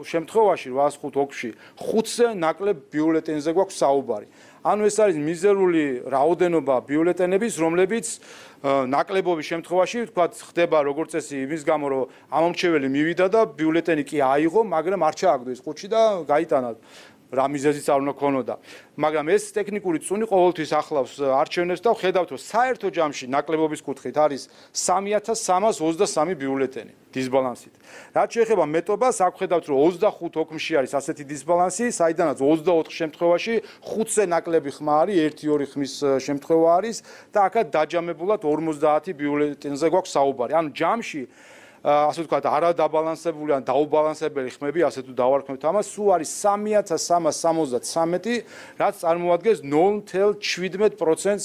შემთხვევაში, რვაას ხუთ ოქში, ხუთზე ნაკლებ ბიულეტენზე გვაქვს საუბარი. ანუ ეს არის მიზერული რაოდენობა ბიულეტენების, რომლებიც ნაკლებობის შემთხვევაში, თქვათ, ხდება როგორც წესი იმის გამო, რომ ამომრჩეველი მივიდა და ბიულეტენი კი აიღო, მაგრამ არ ჩააგდო ის ხუთში და გაიტანა. რა მიზეზიც არ უნდა ქონოდა. მაგრამ ეს ტექნიკური წუნი ყოველთვის ახლავს არჩევნებს და ვხედავთ, რომ საერთო ჯამში ნაკლებობის კუთხით არის სამი ათას სამას ოცდასამი ბიულეტენი დისბალანსით. რაც შეეხება მეტობას, აქ ვხედავთ, რომ ოცდახუთ ოქმში არის ასეთი დისბალანსი, საიდანაც ოცდაოთხ შემთხვევაში ხუთზე ნაკლები ხმა არის, ერთი ორი ხმის შემთხვევა არის და აქაც დაჯამებულად ორმოცდაათი ბიულეტენზე გვაქვს საუბარი. ანუ ჯამში ასე ვთქვათ, არადაბალანსებული ან დაუბალანსებელი ხმები, ასე თუ დავარქმევთ ამას, სულ არის სამი ათას სამას სამოცდათვრამეტი, რაც წარმოადგენს ნულ ათას შვიდმეტ პროცენტს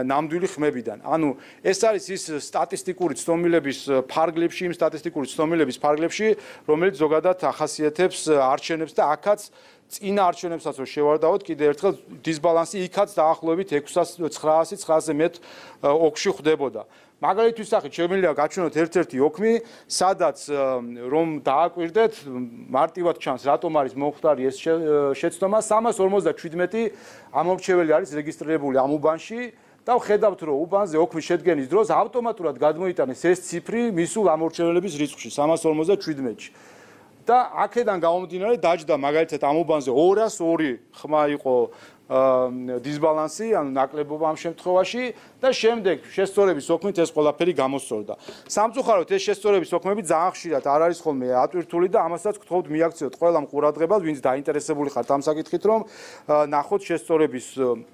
ნამდვილი ხმებიდან. ანუ ეს არის ის სტატისტიკური ცნობილების ფარგლებში, იმ სტატისტიკური ცნობილების ფარგლებში, რომელიც ზოგადად ახასიათებს არჩევნებს და აქაც წინა არჩევნებსაც რო შევარდაოთ, კიდევ ერთხელ დისბალანსი იქაც დაახლოებით ექვსასი ცხრაასი ცხრაასზე მეტ ოქში ხდებოდა. მაგალითის სახით შემიძლია გაჩვენოთ ერთ-ერთი ოქმი, სადაც რომ დააკვირდეთ, მარტივად ჩანს, რატომ არის მომხდარი ეს შეცდომა, სამას ორმოცდაშვიდმეტი ამომრჩეველი არის რეგისტრირებული ამ უბანში და ვხედავთ, რომ უბანზე ოქმის შედგენის დროს ავტომატურად გადმოიტანეს ეს ციფრი მისულ ამომრჩეველების რიცხვში, სამას ორმოცდაშვიდმეტში. და აქედან გამომდინარე დაჯდა მაგალითად ამ უბანზე ორას ორი ხმა იყო დისბალანსი, ანუ ნაკლებობა ამ შემთხვევაში და შემდეგ შესწორების ოქმით ეს ყველაფერი გამოსწორდა. სამწუხაროდ ეს შესწორების ოქმები ძალიან ხშირად არ არის ხოლმე ატვირთული და ამასაც გთხოვთ მიაქციოთ ყველა მყურადღებას, ვინც დაინტერესებული ხართ ამ საკითხით, რომ ნახოთ შესწორების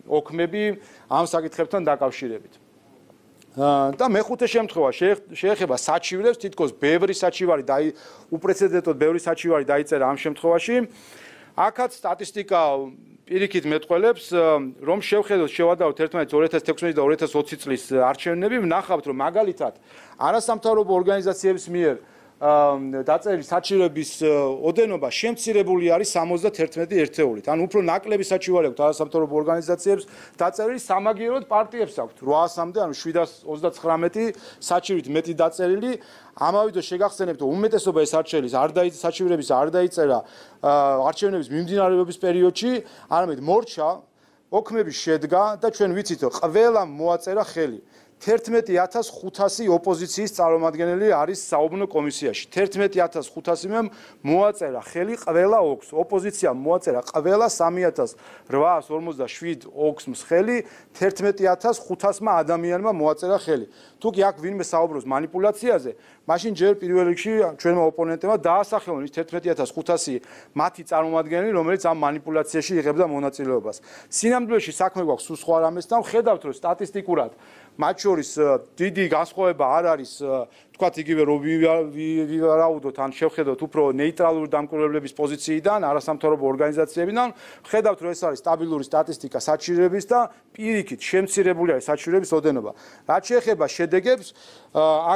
ოქმები ამ საკითხებთან დაკავშირებით. და მეხუთე შემთხვევა შეეხება საჩივრებს, თითქოს ბევრი საჩივარი და უპრეცედენტოდ ბევრი საჩივარი დაიწერა ამ შემთხვევაში. აქაც სტატისტიკა პირიქით მეტყველებს, რომ შევხედოთ, შევადაროთ ერთმანეთს ორი ათას თექვსმეტი და ორი ათას ოცი წლის არჩევნები, ვნახავთ, რომ მაგალითად არასამთავრობო ორგანიზაციების მიერ დაწერილი საჩივრების ოდენობა შემცირებული არის სამოცდაერთმეტი ერთეულით. ანუ უფრო ნაკლები საჩივარი აქვს არასამთავრობო ორგანიზაციებს, დაწერილი სამაგიეროდ პარტიებს აქვთ რვაასამდე, ანუ შვიდას ოცდაცხრამეტი საჩივრით მეტი დაწერილი. ამავე დროს შეგახსენებთ, რომ უმეტესობა ეს არჩევნების არ დაიწერა საჩივრების არ დაიწერა არჩევნების მიმდინარეობის პერიოდში, არამედ მორჩა ოქმები შედგა და ჩვენ ვიცით, რომ ყველა მოაწერა ხელი. თერთმეტი ათას ხუთასი ოპოზიციის წარმომადგენელი არის საუბნო კომისიაში. თერთმეტი ათას ხუთასი-მ მოაწერა ხელი ყველა ოქს. ოპოზიციამ მოაწერა ყველა სამი ათას რვაას ორმოცდაშვიდ ოქს ხელი, თერთმეტი ათას ხუთასმა ადამიანმა მოაწერა ხელი. თუ კი აქ ვინმე საუბრობს манипуляციაზე, მაშინ ჯერ პირველ რიგში ჩვენმა ოპონენტებმა დაასახელონ ის თერთმეტი ათას ხუთასი მათი წარმომადგენელი, რომელიც ამ манипуляციაში იღებდა მონაწილეობას. სინამდვილეში საქმე გვაქვს სულ სხვა რამესთან, ხედავთ რომ სტატისტიკურად მათ შორის დიდი განსხვავება არ არის, თქვათ იგივე რომ ვივარაუდოთ ან შევხედოთ უფრო ნეიტრალური დამკვირვებლების პოზიციიდან, არასამთავრობო ორგანიზაციებიდან, ხედავთ რომ ეს არის სტაბილური სტატისტიკა საჩივრების და პირიქით შემცირებული არის საჩივრების ოდენობა. რაც შეეხება შედეგებს,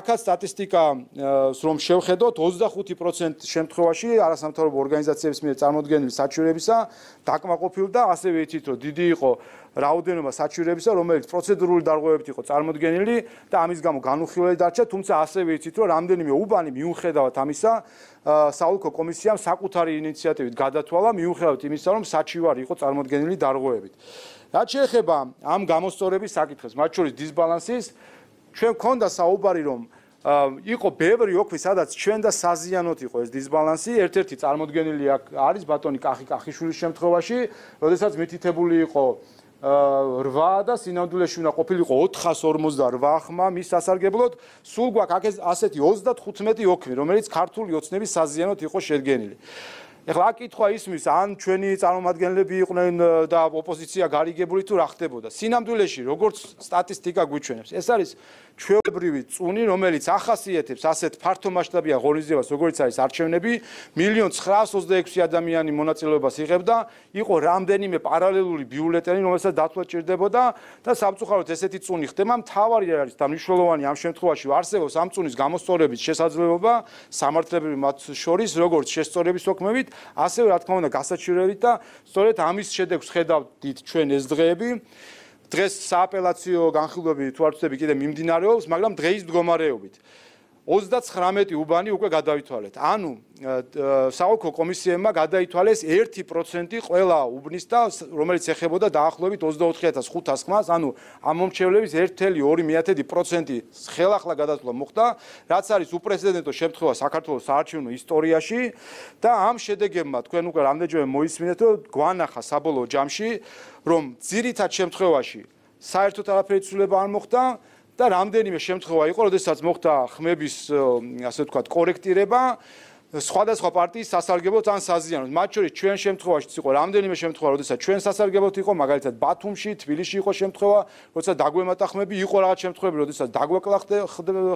აქაც სტატისტიკას რომ შევხედოთ, ოცდახუთი პროცენტი შემთხვევაში არასამთავრობო ორგანიზაციების მიერ წარმოდგენილი საჩივრებისა დაკმაყოფილდა, ასევე იცით რომ დიდი იყო რაოდენობა საჩივრებისა, რომელიც პროცედურული დარღვევებით იყო წარმოდგენილი და ამის გამო განუხილველი დარჩა, თუმცა ასევე იცით რომ რამდენიმე უბანი მიუხედავად ამისა საოლქო კომისიამ საკუთარი ინიციატივით გადათვალა, მიუხედავად იმისა, რომ საჩივარი იყო წარმოდგენილი დარღვევებით. რაც შეეხება ამ გამოსწორების საკითხებს, მათ შორის დისბალანსის, ჩვენ გქონდა საუბარი, რომ იყო ბევრი ოქმი, სადაც ჩვენ და საზიანოთ იყო ეს დისბალანსი. ერთ-ერთი წარმოდგენილი არის ბატონი კახი კახიშვილის შემთხვევაში, როდესაც მითითებული იყო რვა და სინამდვილეში უნდა ყოფილიყო ოთხას ორმოცდარვა ხმა მის სასარგებლოდ, სულ გვაქვს ასეთი ოცდათხუთმეტი ოქმი, რომელიც ქართული ოცნების საზიანოთ იყო შედგენილი. ეხლა აქ კითხვა ისმის, ან ჩვენი წარმომადგენლები იყვნენ და ოპოზიცია გარიგებული თუ რა ხდებოდა. სინამდვილეში, როგორც სტატისტიკა გვიჩვენებს, ეს არის ჩვეულებრივი წუნი, რომელიც ახასიათებს ასეთ ფართომასშტაბიან ღონისძიებას, როგორც არის არჩევნები, მილიონ ცხრაას ოცდაექვსი ადამიანი მონაწილეობას იღებდა, იყო რამდენიმე პარალელური ბიულეტენი, რომელსაც დათვლა ჭირდებოდა და სამწუხაროდ ესეთი წუნი ხდება. მთავარი არის და მნიშვნელოვანი ამ შემთხვევაში არსებობს ამ წუნის გამოსწორების შესაძლებლობა სამართლებრივი მათ შორის, როგორც შესწორების ოქმებით, ასევე რა თქმა უნდა გასაჩივრებით და სწორედ ამის შედეგს ხედავთ ჩვენ ეს დღეები. დღეს სააპელაციო განხილვები თუ არ ვცდები კიდე მიმდინარეობს, მაგრამ დღეის მდგომარეობით ოცდაცხრამეტი უბანი უკვე გადაითვალეთ. ანუ საოლქო კომისიებმა გადაითვალეს ერთი პროცენტი ყველა უბნის და რომელიც ეხებოდა დაახლოებით ოცდაოთხი ათას ხუთას ხმას, ანუ ამ მომრჩევლების ერთი წელი ორი პროცენტი ხელახლა გადასვლა მოხდა, რაც არის უპრეცედენტო შემთხვევა საქართველოს საარჩევნო ისტორიაში და ამ შედეგებმა თქვენ უკვე რამდენჯერმე მოისმინეთ, რომ გვანახა საბოლოო ჯამში, რომ ძირითად შემთხვევაში საერთოდ არაფერი ცვლილება არ მოხდა და რამდენიმე შემთხვევა იყო, როდესაც მოხდა ხმების, ასე ვთქვათ, კორექტირება სხვადასხვა პარტიის სასარგებლოდ ან საზიანოდ. მათ შორის ჩვენ შემთხვევაშიც იყო რამდენიმე შემთხვევა, როდესაც ჩვენ სასარგებლოდ იყო, მაგალითად ბათუმში, თბილისში იყო შემთხვევა, როცა დაგვემატა ხმები, იყო რაღაც შემთხვევები, როდესაც დაგვეკლა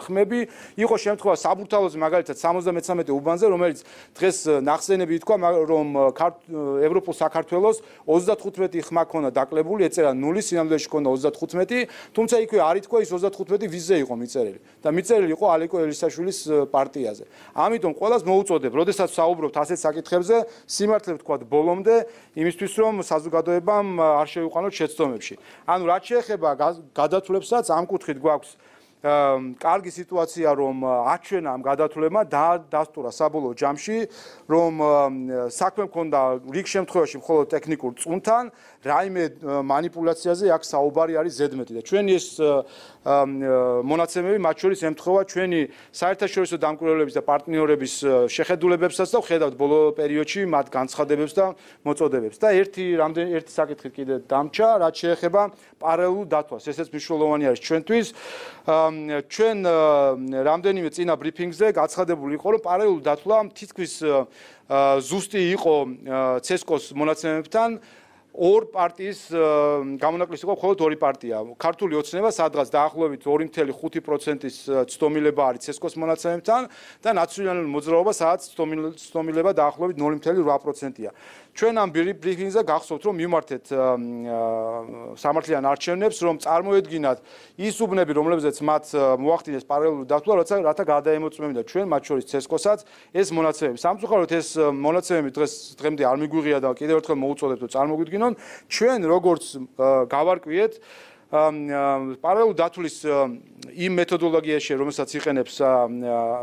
ხმები, იყო შემთხვევა საბურთალოზე, მაგალითად სამოცდამეცამეტე უბანზე, რომელიც დღეს ნახსენები ითქვა, რომ ევროპულ საქართველოს ოცდათხუთმეტი ხმა ქონდა დაკლებული, ეწერა ნული, სინამდვილეში ქონდა ოცდათხუთმეტი, თუმცა იქვე არ ითქვა ის ოცდათხუთმეტი ვიზზე იყო მიწერილი და მიწერილი იყო ალეკო ელისაშვილის პარტიაზე. ამიტომ ყველას უწოდებ, როდესაც საუბრობთ ასეთ საკითხებზე, სიმართლე ვთქვათ ბოლომდე, იმისთვის რომ საზოგადოებამ არ შეუყვანოთ შეცდომებში. ანუ რაც შეეხება გადათვლებსაც, ამ კუთხით გვაქვს კარგი სიტუაცია, რომ აჩვენა ამ გადათვლებმა დასტურა საბოლოო ჯამში, რომ საქმე მქონდა რიგ შემთხვევაში მხოლოდ ტექნიკურ წუნთან, რაიმე манипуляციაზე აქ საუბარი არის ზედმეტი და ჩვენი ეს მონაცემები მათ შორის ემთხვევა ჩვენი საერთაშორისო დამკვირვებლების და პარტნიორების შეხედულებებსაც და ვხედავთ ბოლო პერიოდში მათ განცხადებებს და მოწოდებებს. და ერთი რამდენი ერთი საკითხი კიდე დამჭა, რაც შეეხება პარალელურ დათვას. ესეც მნიშვნელოვანი არის ჩვენთვის. ჩვენ რამდენიმე წინა ბრიფინგზე გაცხადებული იყო, რომ პარალელურ დათვლა თითქმის ზუსტი იყო ცესკოს მონაცემებთან. ორ პარტიის გამონაკლისი იყო მხოლოდ ორი პარტია. ქართული ოცნება სადღაც დაახლოებით ორი წუთი ხუთი პროცენტის ცდომილება არის ცესკოს მონაცემებთან და ნაციონალური მოძრაობა სადაც ცდომილება დაახლოებით ნული წუთი რვა პროცენტია. ჩვენ ამ ბრიფინგზე გახსოვთ რომ მიმართეთ სამართლიან არჩევნებს რომ წარმოედგინათ ის უბნები რომლებზეც მათ მოახდინეს პარალელური დათვლა როცა რათა გადაემოწმებინათ ჩვენ მათ შორის ცესკოსაც ეს მონაცემები სამწუხაროდ ეს მონაცემები დღეს დღემდე არ მიგვიღია და კიდევ ერთხელ მოუწოდებთ რომ წარმოგვიდგინონ ჩვენ როგორც გავარკვიეთ პარალელური დათვლის იმ მეთოდოლოგიაში, რომელსაც იყენებს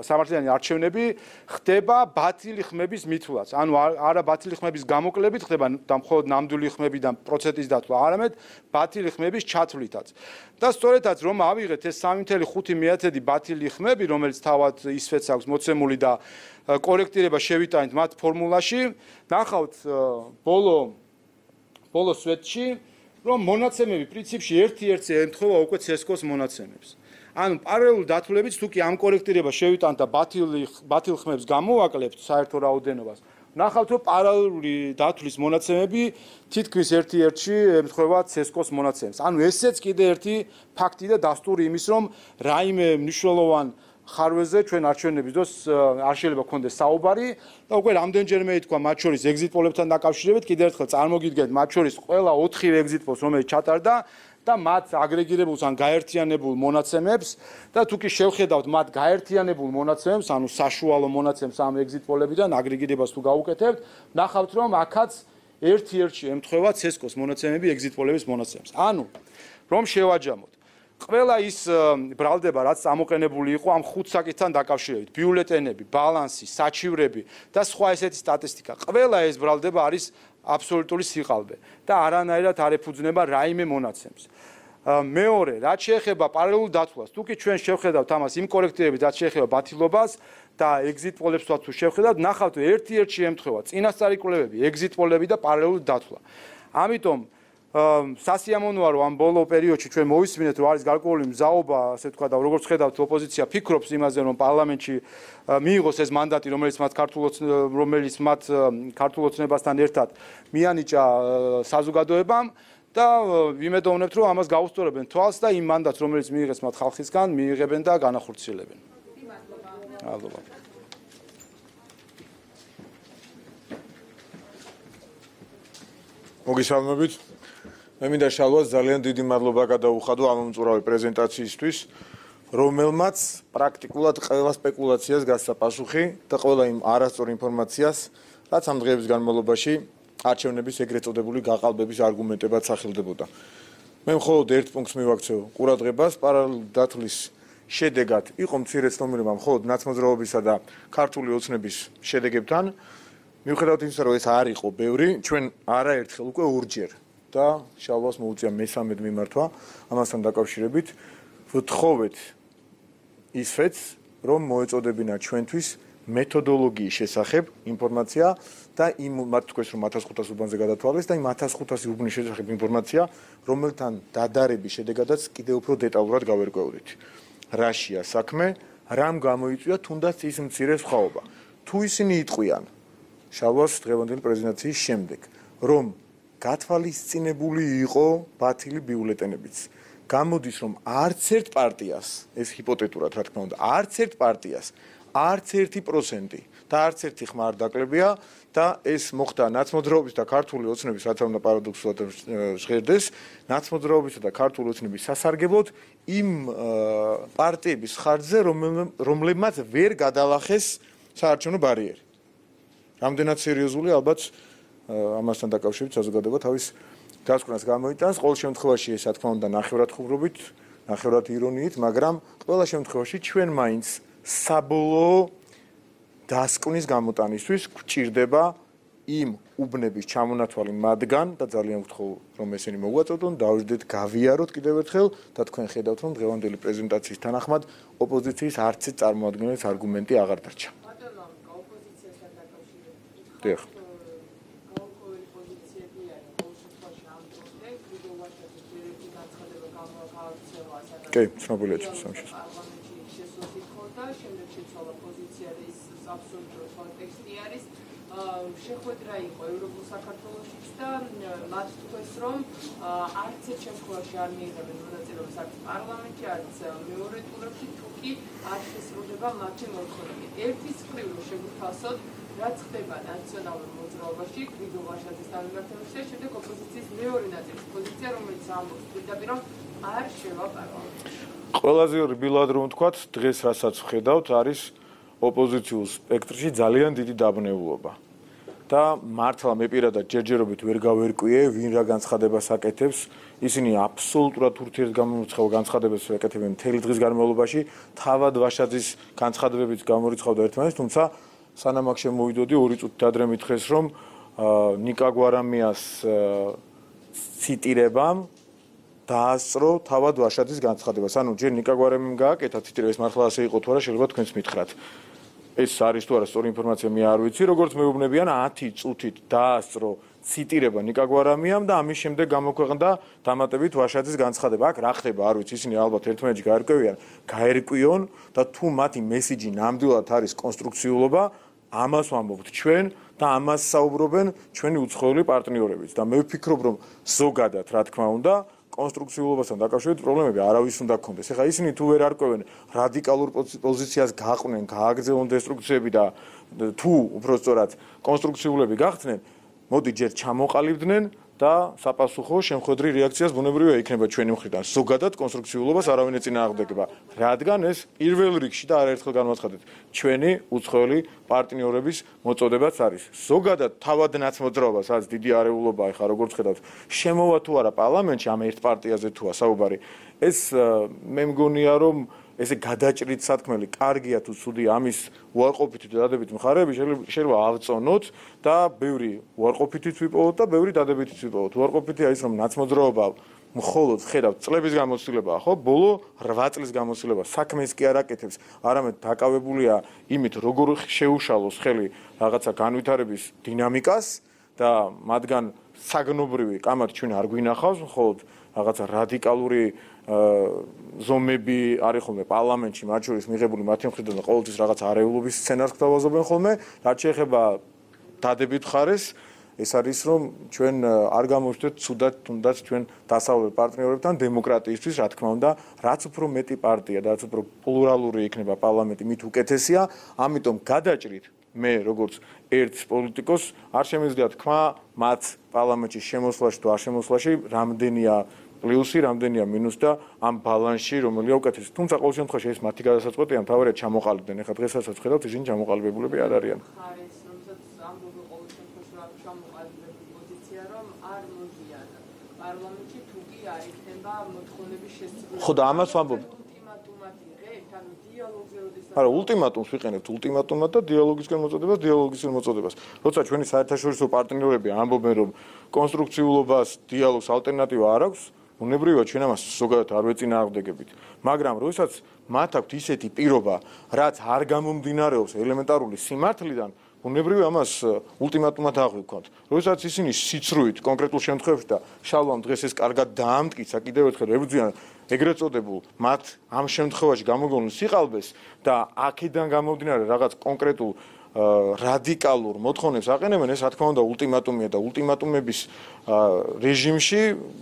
სამართლიანი არჩევნები, ხდება ბათილი ხმების მითვლაც. ანუ არა ბათილი ხმების გამოკლებით ხდება და მხოლოდ ნამდვილი ხმებიდან პროცენტის დათვლა, არამედ ბათილი ხმების ჩათვლითაც. და სწორედაც რომ ავიღეთ ეს სამი ათეული ხუთი ბათილი ხმები, რომელიც თავად ისვეც აქვს მოცემული და კორექტირება შევიტანით მათ ფორმულაში, ნახავთ ბოლო ბოლო სვეტში რომ მონაცემები პრინციპში ერთი-ერთზე ემთხვევა უკვე ცესკოს მონაცემებს. ანუ პარალელურ დათვლებით თუ კი ამ კორექტირება შევიტანთ და ბათილი ბათილ ხმებს გამოვაკლებთ საერთო რაოდენობას, ნახავთ რომ პარალელური დათვლის მონაცემები თითქმის ერთი-ერთში ემთხვევა ცესკოს მონაცემებს. ანუ ესეც კიდე ერთი ფაქტი და დასტური იმის რომ რაიმე მნიშვნელოვან ხარვეზე ჩვენ არჩევნების დროს არ შეიძლება გქონდეს საუბარი და უკვე რამდენჯერმე ითქვა მათ შორის ეგზიტ პოლებთან დაკავშირებით კიდევ ერთხელ წარმოგიდგენთ მათ შორის ყველა ოთხი ეგზიტ პოლს რომელიც ჩატარდა და მათ აგრეგირებულს ან გაერთიანებულ მონაცემებს და თუ კი შევხედავთ მათ გაერთიანებულ მონაცემებს ანუ საშუალო მონაცემებს ამ ეგზიტ პოლებიდან აგრეგირებას თუ გაუკეთებთ ნახავთ რომ აქაც ერთ-ერთში ემთხვევა ცესკოს მონაცემები ეგზიტ პოლების მონაცემებს. ანუ რომ შევაჯამოთ ყველა ის ბრალდება რაც ამოყენებული იყო ამ ხუთ საკითხთან დაკავშირებით ბიულეტენები, ბალანსი, საჩივრები და სხვა ესეთი სტატისტიკა ყველა ეს ბრალდება არის აბსოლუტური სიყალბე და არანაირად არ ეფუძნება რაიმე მონაცემს. მეორე, რაც შეეხება პარალელურ დათვლას, თუ კი ჩვენ შევხედავთ ამას იმ კორექტირებით, რაც შეეხება ბათილობას და ეგზიტ პოლებსაც თუ შევხედავთ, ნახავთ ერთ-ერთში ემთხვევა წინასწარი კვლევები, ეგზიტ პოლები და პარალელური დათვლა. ამიტომ სასიამოვნოა რომ ამ ბოლო პერიოდში ჩვენ მოვისმინეთ რომ არის გარკვეული მზაობა, ასე ვთქვა და როგორც ხედავთ ოპოზიცია ფიქრობს იმაზე რომ პარლამენტში მიიღოს ეს მანდატი რომელიც მათ ქართულ რომელიც მათ ქართულ ოცნებასთან ერთად მიანიჭა საზოგადოებამ და ვიმედოვნებთ რომ ამას გაუსწორებენ თვალს და იმ მანდატს რომელიც მიიღეს მათ ხალხისგან მიიღებენ და განახორციელებენ. მადლობა. მოგესალმებით. მე მინდა შალვას ძალიან დიდი მადლობა გადაუხადო ამ მომწურავი პრეზენტაციისთვის, რომელმაც პრაქტიკულად ყველა სპეკულაციას გასცა პასუხი და ყველა იმ არასწორ ინფორმაციას, რაც ამ დღეების განმავლობაში არჩევნების ეგრეთ წოდებული გაყალბების არგუმენტებად სახელდებოდა. მე მხოლოდ ერთ პუნქტს მივაქცევ ყურადღებას, პარალელური დათვლის შედეგად იყო მცირე ცნობიერება მხოლოდ ნაცმოძრაობისა და ქართული ოცნების შედეგებთან. მიუხედავად იმისა, რომ ეს არ იყო ბევრი, ჩვენ არაერთხელ უკვე ორჯერ და შალვას მოუწია მესამედ მიმართვა ამასთან დაკავშირებით ვთხოვეთ ისვეც რომ მოეწოდებინა ჩვენთვის მეთოდოლოგიის შესახებ ინფორმაცია და იმ მათ თქვეს რომ ათას ხუთას უბანზე გადათვალეს და იმ ათას ხუთას უბნის შესახებ ინფორმაცია რომელთან დადარების შედეგადაც კიდევ უფრო დეტალურად გავერკვევდით რაშია საქმე რამ გამოიწვია თუნდაც ის მცირე სხვაობა თუ ისინი იტყვიან შალვას დღევანდელი პრეზენტაციის შემდეგ რომ გათვალისწინებული იყო ბათილი ბიულეტენებიც. გამოდის რომ არც ერთ პარტიას, ეს ჰიპოთეტურად რა თქმა უნდა, არც ერთ პარტიას, არც ერთი პროცენტი და არც ერთი ხმა არ დაკლებია და ეს მოხდა ნაცმოძრაობის და ქართული ოცნების რაც უნდა პარადოქსულად ჟღერდეს, ნაცმოძრაობისა და ქართული ოცნების სასარგებლოდ იმ პარტიების ხარჯზე, რომლებმაც ვერ გადალახეს საარჩევნო ბარიერი. რამდენად სერიოზული ალბათ ამასთან დაკავშირებით საზოგადოება თავის დასკვნას გამოიტანს. ყოველ შემთხვევაში ეს რა თქმა უნდა ნახევრად ხუმრობით, ნახევრად ირონიით, მაგრამ ყველა შემთხვევაში ჩვენ მაინც საბოლოო დასკვნის გამოტანისთვის გვჭირდება იმ უბნების ჩამონათვალი მათგან და ძალიან ვთხოვ რომ ესენი მოგვაწოდონ, დავждეთ გავიაროთ კიდევ ერთხელ და თქვენ ხედავთ რომ დღევანდელი პრეზენტაციის თანახმად ოპოზიციის არც ერთ წარმოადგენლის არგუმენტი აღარ დარჩა. დიახ. კი, ცნობილია ჩემს სამშობლოში. შემდეგ შეცვალა პოზიცია და ის აბსოლუტურ კონტექსტი არის. შეხვედრა იყო ევროპულ საქართველოშიც და მათ თქვეს რომ არც ერთ შემთხვევაში არ მიიღებენ მონაწილეობას არც პარლამენტში, არც მეორე ტურებში, თუ კი არ შესრულდება მათი მოთხოვნები. ერთის მხრივ შეგვითავსოთ რაც ხდება ნაციონალურ მოძრაობაში, გრიგოლ ვაშაძის დამემართებაში, შემდეგ ოპოზიციის მეორე ნაწილის პოზიცია, რომელიც ამბობს პირდაპირ, რომ არ შევა პარლამენტში. ყველაზე რბილად რომ ვთქვათ, დღეს რასაც ვხედავთ, არის ოპოზიციურ სპექტრში ძალიან დიდი დაბნეულობა. და მართლა მე პირადად ჯერჯერობით ვერ გავერკვიე, ვინ რა განცხადებას აკეთებს. ისინი აბსოლუტურად ურთიერთგამომრიცხავ განცხადებას აკეთებენ მთელი დღის განმავლობაში. თავად ვაშაძის განცხადებებიც გამორიცხავდა ერთმანეთს, თუმცა სანამ აქ შემოვიდოდი, ორი წუთით ადრე მითხეს, რომ ნიკა გვარამიას ციტირებამ დაასწრო თავად ვაშაძის განცხადებას. ანუ ჯერ ნიკა გვარამიმ გააკეთა ციტირება, ეს მართლა ასე იყო თუ არა, შეიძლება თქვენც მითხრათ. ეს არის თუ არა სწორი ინფორმაცია, მე არ ვიცი, როგორც მეუბნებიან ათი წუთით დაასწრო ციტირება ნიკა გვარამიამ და ამის შემდეგ გამოქვეყნდა დამატებით ვაშაძის განცხადება. აქ რა ხდება, არ ვიცი, ისინი ალბათ ერთმანეთში გაერკვევიან, გაერკვიონ და თუ მათი მესიჯი ნამდვილად არის კონსტრუქციულობა, ამას ვამბობთ ჩვენ და ამას საუბრობენ ჩვენი უცხოელი პარტნიორებიც და მე ვფიქრობ, რომ ზოგადად, რა თქმა უნდა, კონსტრუქციულობასთან დაკავშირებით პრობლემები არავის უნდა გქონდეს. ეხლა ისინი თუ ვერ არკვევენ რადიკალურ პოზიციას გაყვნენ, გააგრძელონ დესტრუქციები და თუ უბრალოდ კონსტრუქციულები გახდნენ, მოდი ჯერ ჩამოყალიბდნენ და საპასუხო შემხედრი რეაქციას ბუნებრივია იქნება ჩვენი მხრიდან. ზოგადად კონსტრუქციულობას არავინ ეწინააღმდეგება, რადგან ეს პირველ რიგში და არაერთხელ განვაცხადეთ, ჩვენი უცხოელი პარტნიორების მოწოდებაც არის. ზოგადად თავად ნაცმოძრაობას, რაც დიდი არეულობა ახლა როგორც ხედავთ, შემოვა თუ არა პარლამენტში ამ ერთ პარტიაზე თუა საუბარი. ეს მე მგონია რომ ესე გადაჭრით სათქმელი, კარგია თუ ცუდია ამის უარყოფითი და დადებითი მხარეები შეიძლება ავწონოთ და ბევრი უარყოფითიც ვიპოვოთ და ბევრი დადებითიც ვიპოვოთ. უარყოფითია ის, რომ ნაცმოძრაობა მხოლოდ ხედავთ წლების გამოცდილებაა, ხო? ბოლო რვა წლის გამოცდილება საქმეს კი არ აკეთებს, არამედ დაკავებულია იმით, როგორ შეუშალოს ხელი რაღაცა განვითარების დინამიკას და მათგან საგნობრივი კამათი ჩვენ არ გვინახავს, მხოლოდ რაღაცა რადიკალური ზომები არის ხოლმე პარლამენტში, მათ შორის მიღებული მათი მხრიდან და ყოველთვის რაღაც არეულობის სცენარს გვთავაზობენ ხოლმე, რაც შეეხება დადებით მხარეს, ეს არის რომ ჩვენ არ გამოვხდეთ ცუდად თუნდაც ჩვენ დასავლელ პარტნიორებთან დემოკრატიისთვის, რა თქმა უნდა, რაც უფრო მეტი პარტია და რაც უფრო პლურალური იქნება პარლამენტი, მით უკეთესია, ამიტომ გადაჭრით მე როგორც ერთ პოლიტიკოს არ შემიძლია თქვა მათ პარლამენტში შემოსვლაში თუ არ შემოსვლაში რამდენია პლუსი, რამდენია მინუსი და ამ ბალანსში რომელია უკეთესი. თუმცა ყოველ შემთხვევაში ეს მათი გადასაწყვეტია, მთავარია ჩამოყალიბდნენ. ეხლა დღესაც ხედავთ, ისინი ჩამოყალიბებულები არ არიან. ხარეს, რომელსაც ამბობენ ყოველ შემთხვევაში რა ჩამოყალიბებული პოზიცია, რომ არ მოდიან პარლამენტში თუ კი არ იქნება მოთხოვნების შესრულება. ხო და ამას ვამბობ. ულტიმატუმად იღებთ, ანუ დიალოგზე როდის არა, ულტიმატუმს ვიყენებთ, ულტიმატუმად და დიალოგისკენ მოწოდებას, დიალოგისკენ მოწოდებას. როცა ჩვენი საერთაშორისო პარტნიორები ამბობენ, რომ კონსტრუქციულობას, დიალოგს ალტერნატივა არ აქვს, უნებრივია ჩვენ ამას ზოგადად არ ვეწინააღმდეგებით, მაგრამ როდესაც მათ აქვთ ისეთი პირობა, რაც არ გამომდინარეობს ელემენტარული სიმართლიდან, უნებრივია ამას ულტიმატუმად აღვიქვათ. როდესაც ისინი სიცრუით კონკრეტულ შემთხვევებში და შალვამ დღეს ეს კარგად დაამტკიცა, კიდევ ერთხელ ებრძვიან ეგრეთ წოდებულ მათ ამ შემთხვევაში გამოგონილ სიყალბეს და აქედან გამომდინარე რაღაც კონკრეტულ რადიკალურ მოთხოვნებს აყენებენ, ეს რა თქმა უნდა ულტიმატუმია და ულტიმატუმების რეჟიმში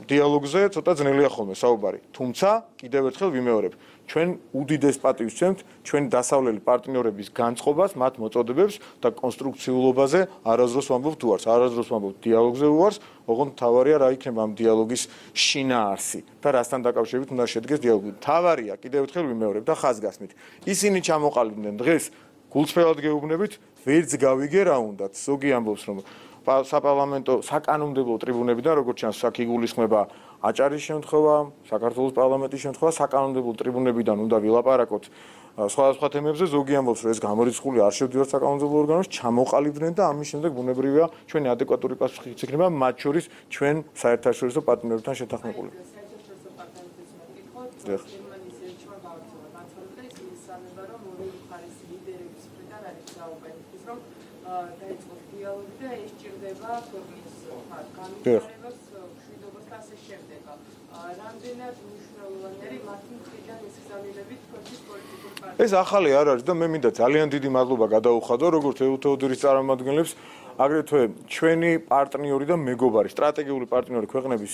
დიალოგზე ცოტა ძნელია ხოლმე საუბარი. თუმცა კიდევ ერთხელ ვიმეორებ, ჩვენ უდიდეს პატივს ვცემთ ჩვენი დასავლელი პარტნიორების განწყობას, მათ მოწოდებებს და კონსტრუქციულობაზე არასდროს ვამბობ თუ არს, არასდროს ვამბობ დიალოგზე უარს, ოღონდ თავარია რა იქნება ამ დიალოგის შინაარსი და რასთან დაკავშირებით უნდა შედგეს დიალოგი. თავარია კიდევ ერთხელ ვიმეორებ და ხაზგასმით. ისინი ჩამოყალიბდნენ დღეს გულწრფელად გეუბნებით, ვერც გავიგე რა უნდათ. ზოგი ამბობს, რომ საპარლამენტო საკანონმდებლო ტრიბუნებიდან, როგორც ჩანს, აქ იგულისხმება აჭარის შემთხვევა, საქართველოს პარლამენტის შემთხვევა, საკანონმდებლო ტრიბუნებიდან უნდა ვილაპარაკოთ სხვადასხვა თემებზე. ზოგი ამბობს, რომ ეს გამორიცხული არ შევდივართ საკანონმდებლო ორგანოში, ჩამოყალიბდნენ და ამის შემდეგ ბუნებრივია ჩვენი ადეკვატური პასუხი იქნება, მათ შორის ჩვენ საერთაშორისო პარტნიორებთან შეთანხმებული. დაიწყოს დიალოგი და ეს ჭირდება ქვეყნის განვითარებას, მშვიდობას და ასე შემდეგ. რამდენად მნიშვნელოვანი არის მათი მხრიდან ეს გზავნილებით ქვეყნის პოლიტიკურ პარტიებს? ეს ახალი არ არის და მე მინდა ძალიან დიდი მადლობა გადაუხადო როგორც ეუთეოდორის წარმომადგენლებს, აგრეთვე ჩვენი პარტნიორი და მეგობარი, სტრატეგიული პარტნიორი ქვეყნების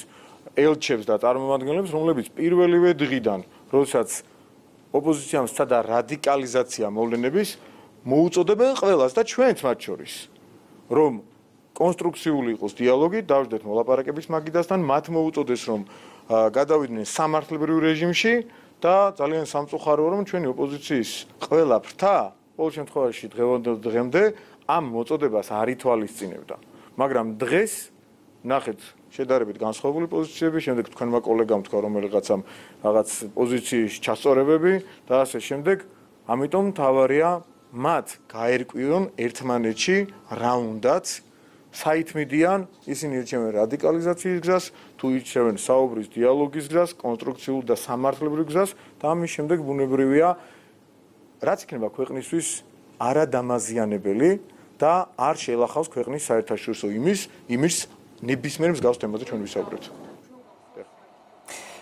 ელჩებს და წარმომადგენლებს, რომლებიც პირველივე დღიდან, როდესაც ოპოზიციამ სცადა რადიკალიზაცია მოვლენების, მოუწოდებენ ყველას და ჩვენც მათ შორის რომ კონსტრუქციული იყოს დიალოგი, დავждეთ მოლაპარაკების მაგიდასთან, მათ მოუწოდეს რომ გადავიდნენ სამართლებრივ რეჟიმში და ძალიან სამწუხაროა რომ ჩვენი ოპოზიციის ყველა ფრთა ყოველ შემთხვევაში დღევანდელ ამ მოწოდებას არ ითვალისწინებდა. მაგრამ დღეს ნახეთ შედარებით განსხვავებული პოზიციები, შემდეგ თქვენმა კოლეგამ თქვა რომ რაღაცამ რაღაც პოზიციის ჩასწორებები და ასე შემდეგ, ამიტომ თავარია მათ გაერკვიონ ერთმანეთში რა უნდაც საითმიდიან, ისინი ირჩევენ რადიკალიზაციის გზას, თუ ირჩევენ საუბრის დიალოგის გზას, კონსტრუქციულ და სამართლებრივ გზას და ამის შემდეგ ბუნებრივია რაც იქნება ქვეყნისთვის არადამაზიანებელი და არ შეელახავს ქვეყნის საერთაშორისო იმის, იმის ნებისმიერ მსგავს თემაზე ჩვენ ვისაუბრებთ.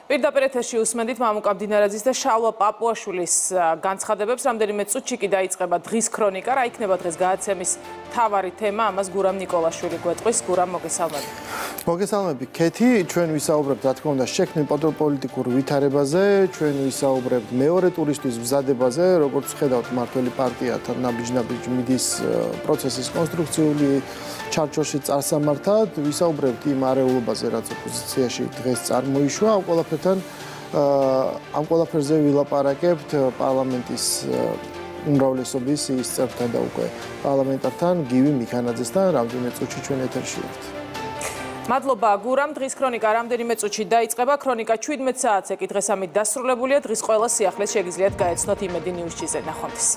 პირდაპირ ეთერში უსმენთ მამუკა მდინარაძის და შალვა პაპუაშვილის განცხადებებს. რამდენიმე წუთში კი დაიწყება დღის ქრონიკა. რა იქნება დღეს გადაცემის მთავარი თემა? ამას გურამ ნიკოლაშვილი გვეტყვის. გურამ, მოგესალმები. მოგესალმები, ქეთი. ჩვენ ვისაუბრებთ, რა თქმა უნდა, შექმნილ პოლიტიკურ ვითარებაზე, ჩვენ ვისაუბრებთ მეორე ტურისთვის მზადებაზე, როგორც ხედავთ, მართველი პარტიათან ნაბიჯ-ნაბიჯ მიდის პროცესის კონსტრუქციული ჩარჩოში წარსამართად, ვისაუბრებთ იმ არეულობაზე, რაც ოპოზიციაში დღეს წარმოიშვა, ამ ყველაფერთან ამ ყველაფერზე ვილაპარაკებთ პარლამენტის უმრავლესობის ის წევრთან და უკვე პარლამენტართან, გივი მიქანაძესთან, რამდენიმე წუთში ჩვენ ეთერში ვართ. მადლობა გურამ, დღის ქრონიკა რამდენიმე წუთში დაიწყება. ქრონიკა ჩვიდმეტ საათზე კი დღეს ამით დასრულებულია. დღის ყველა სიახლეს შეგიძლიათ გაეცნოთ იმედი ნიუს-ში-ზე. ნახვამდის.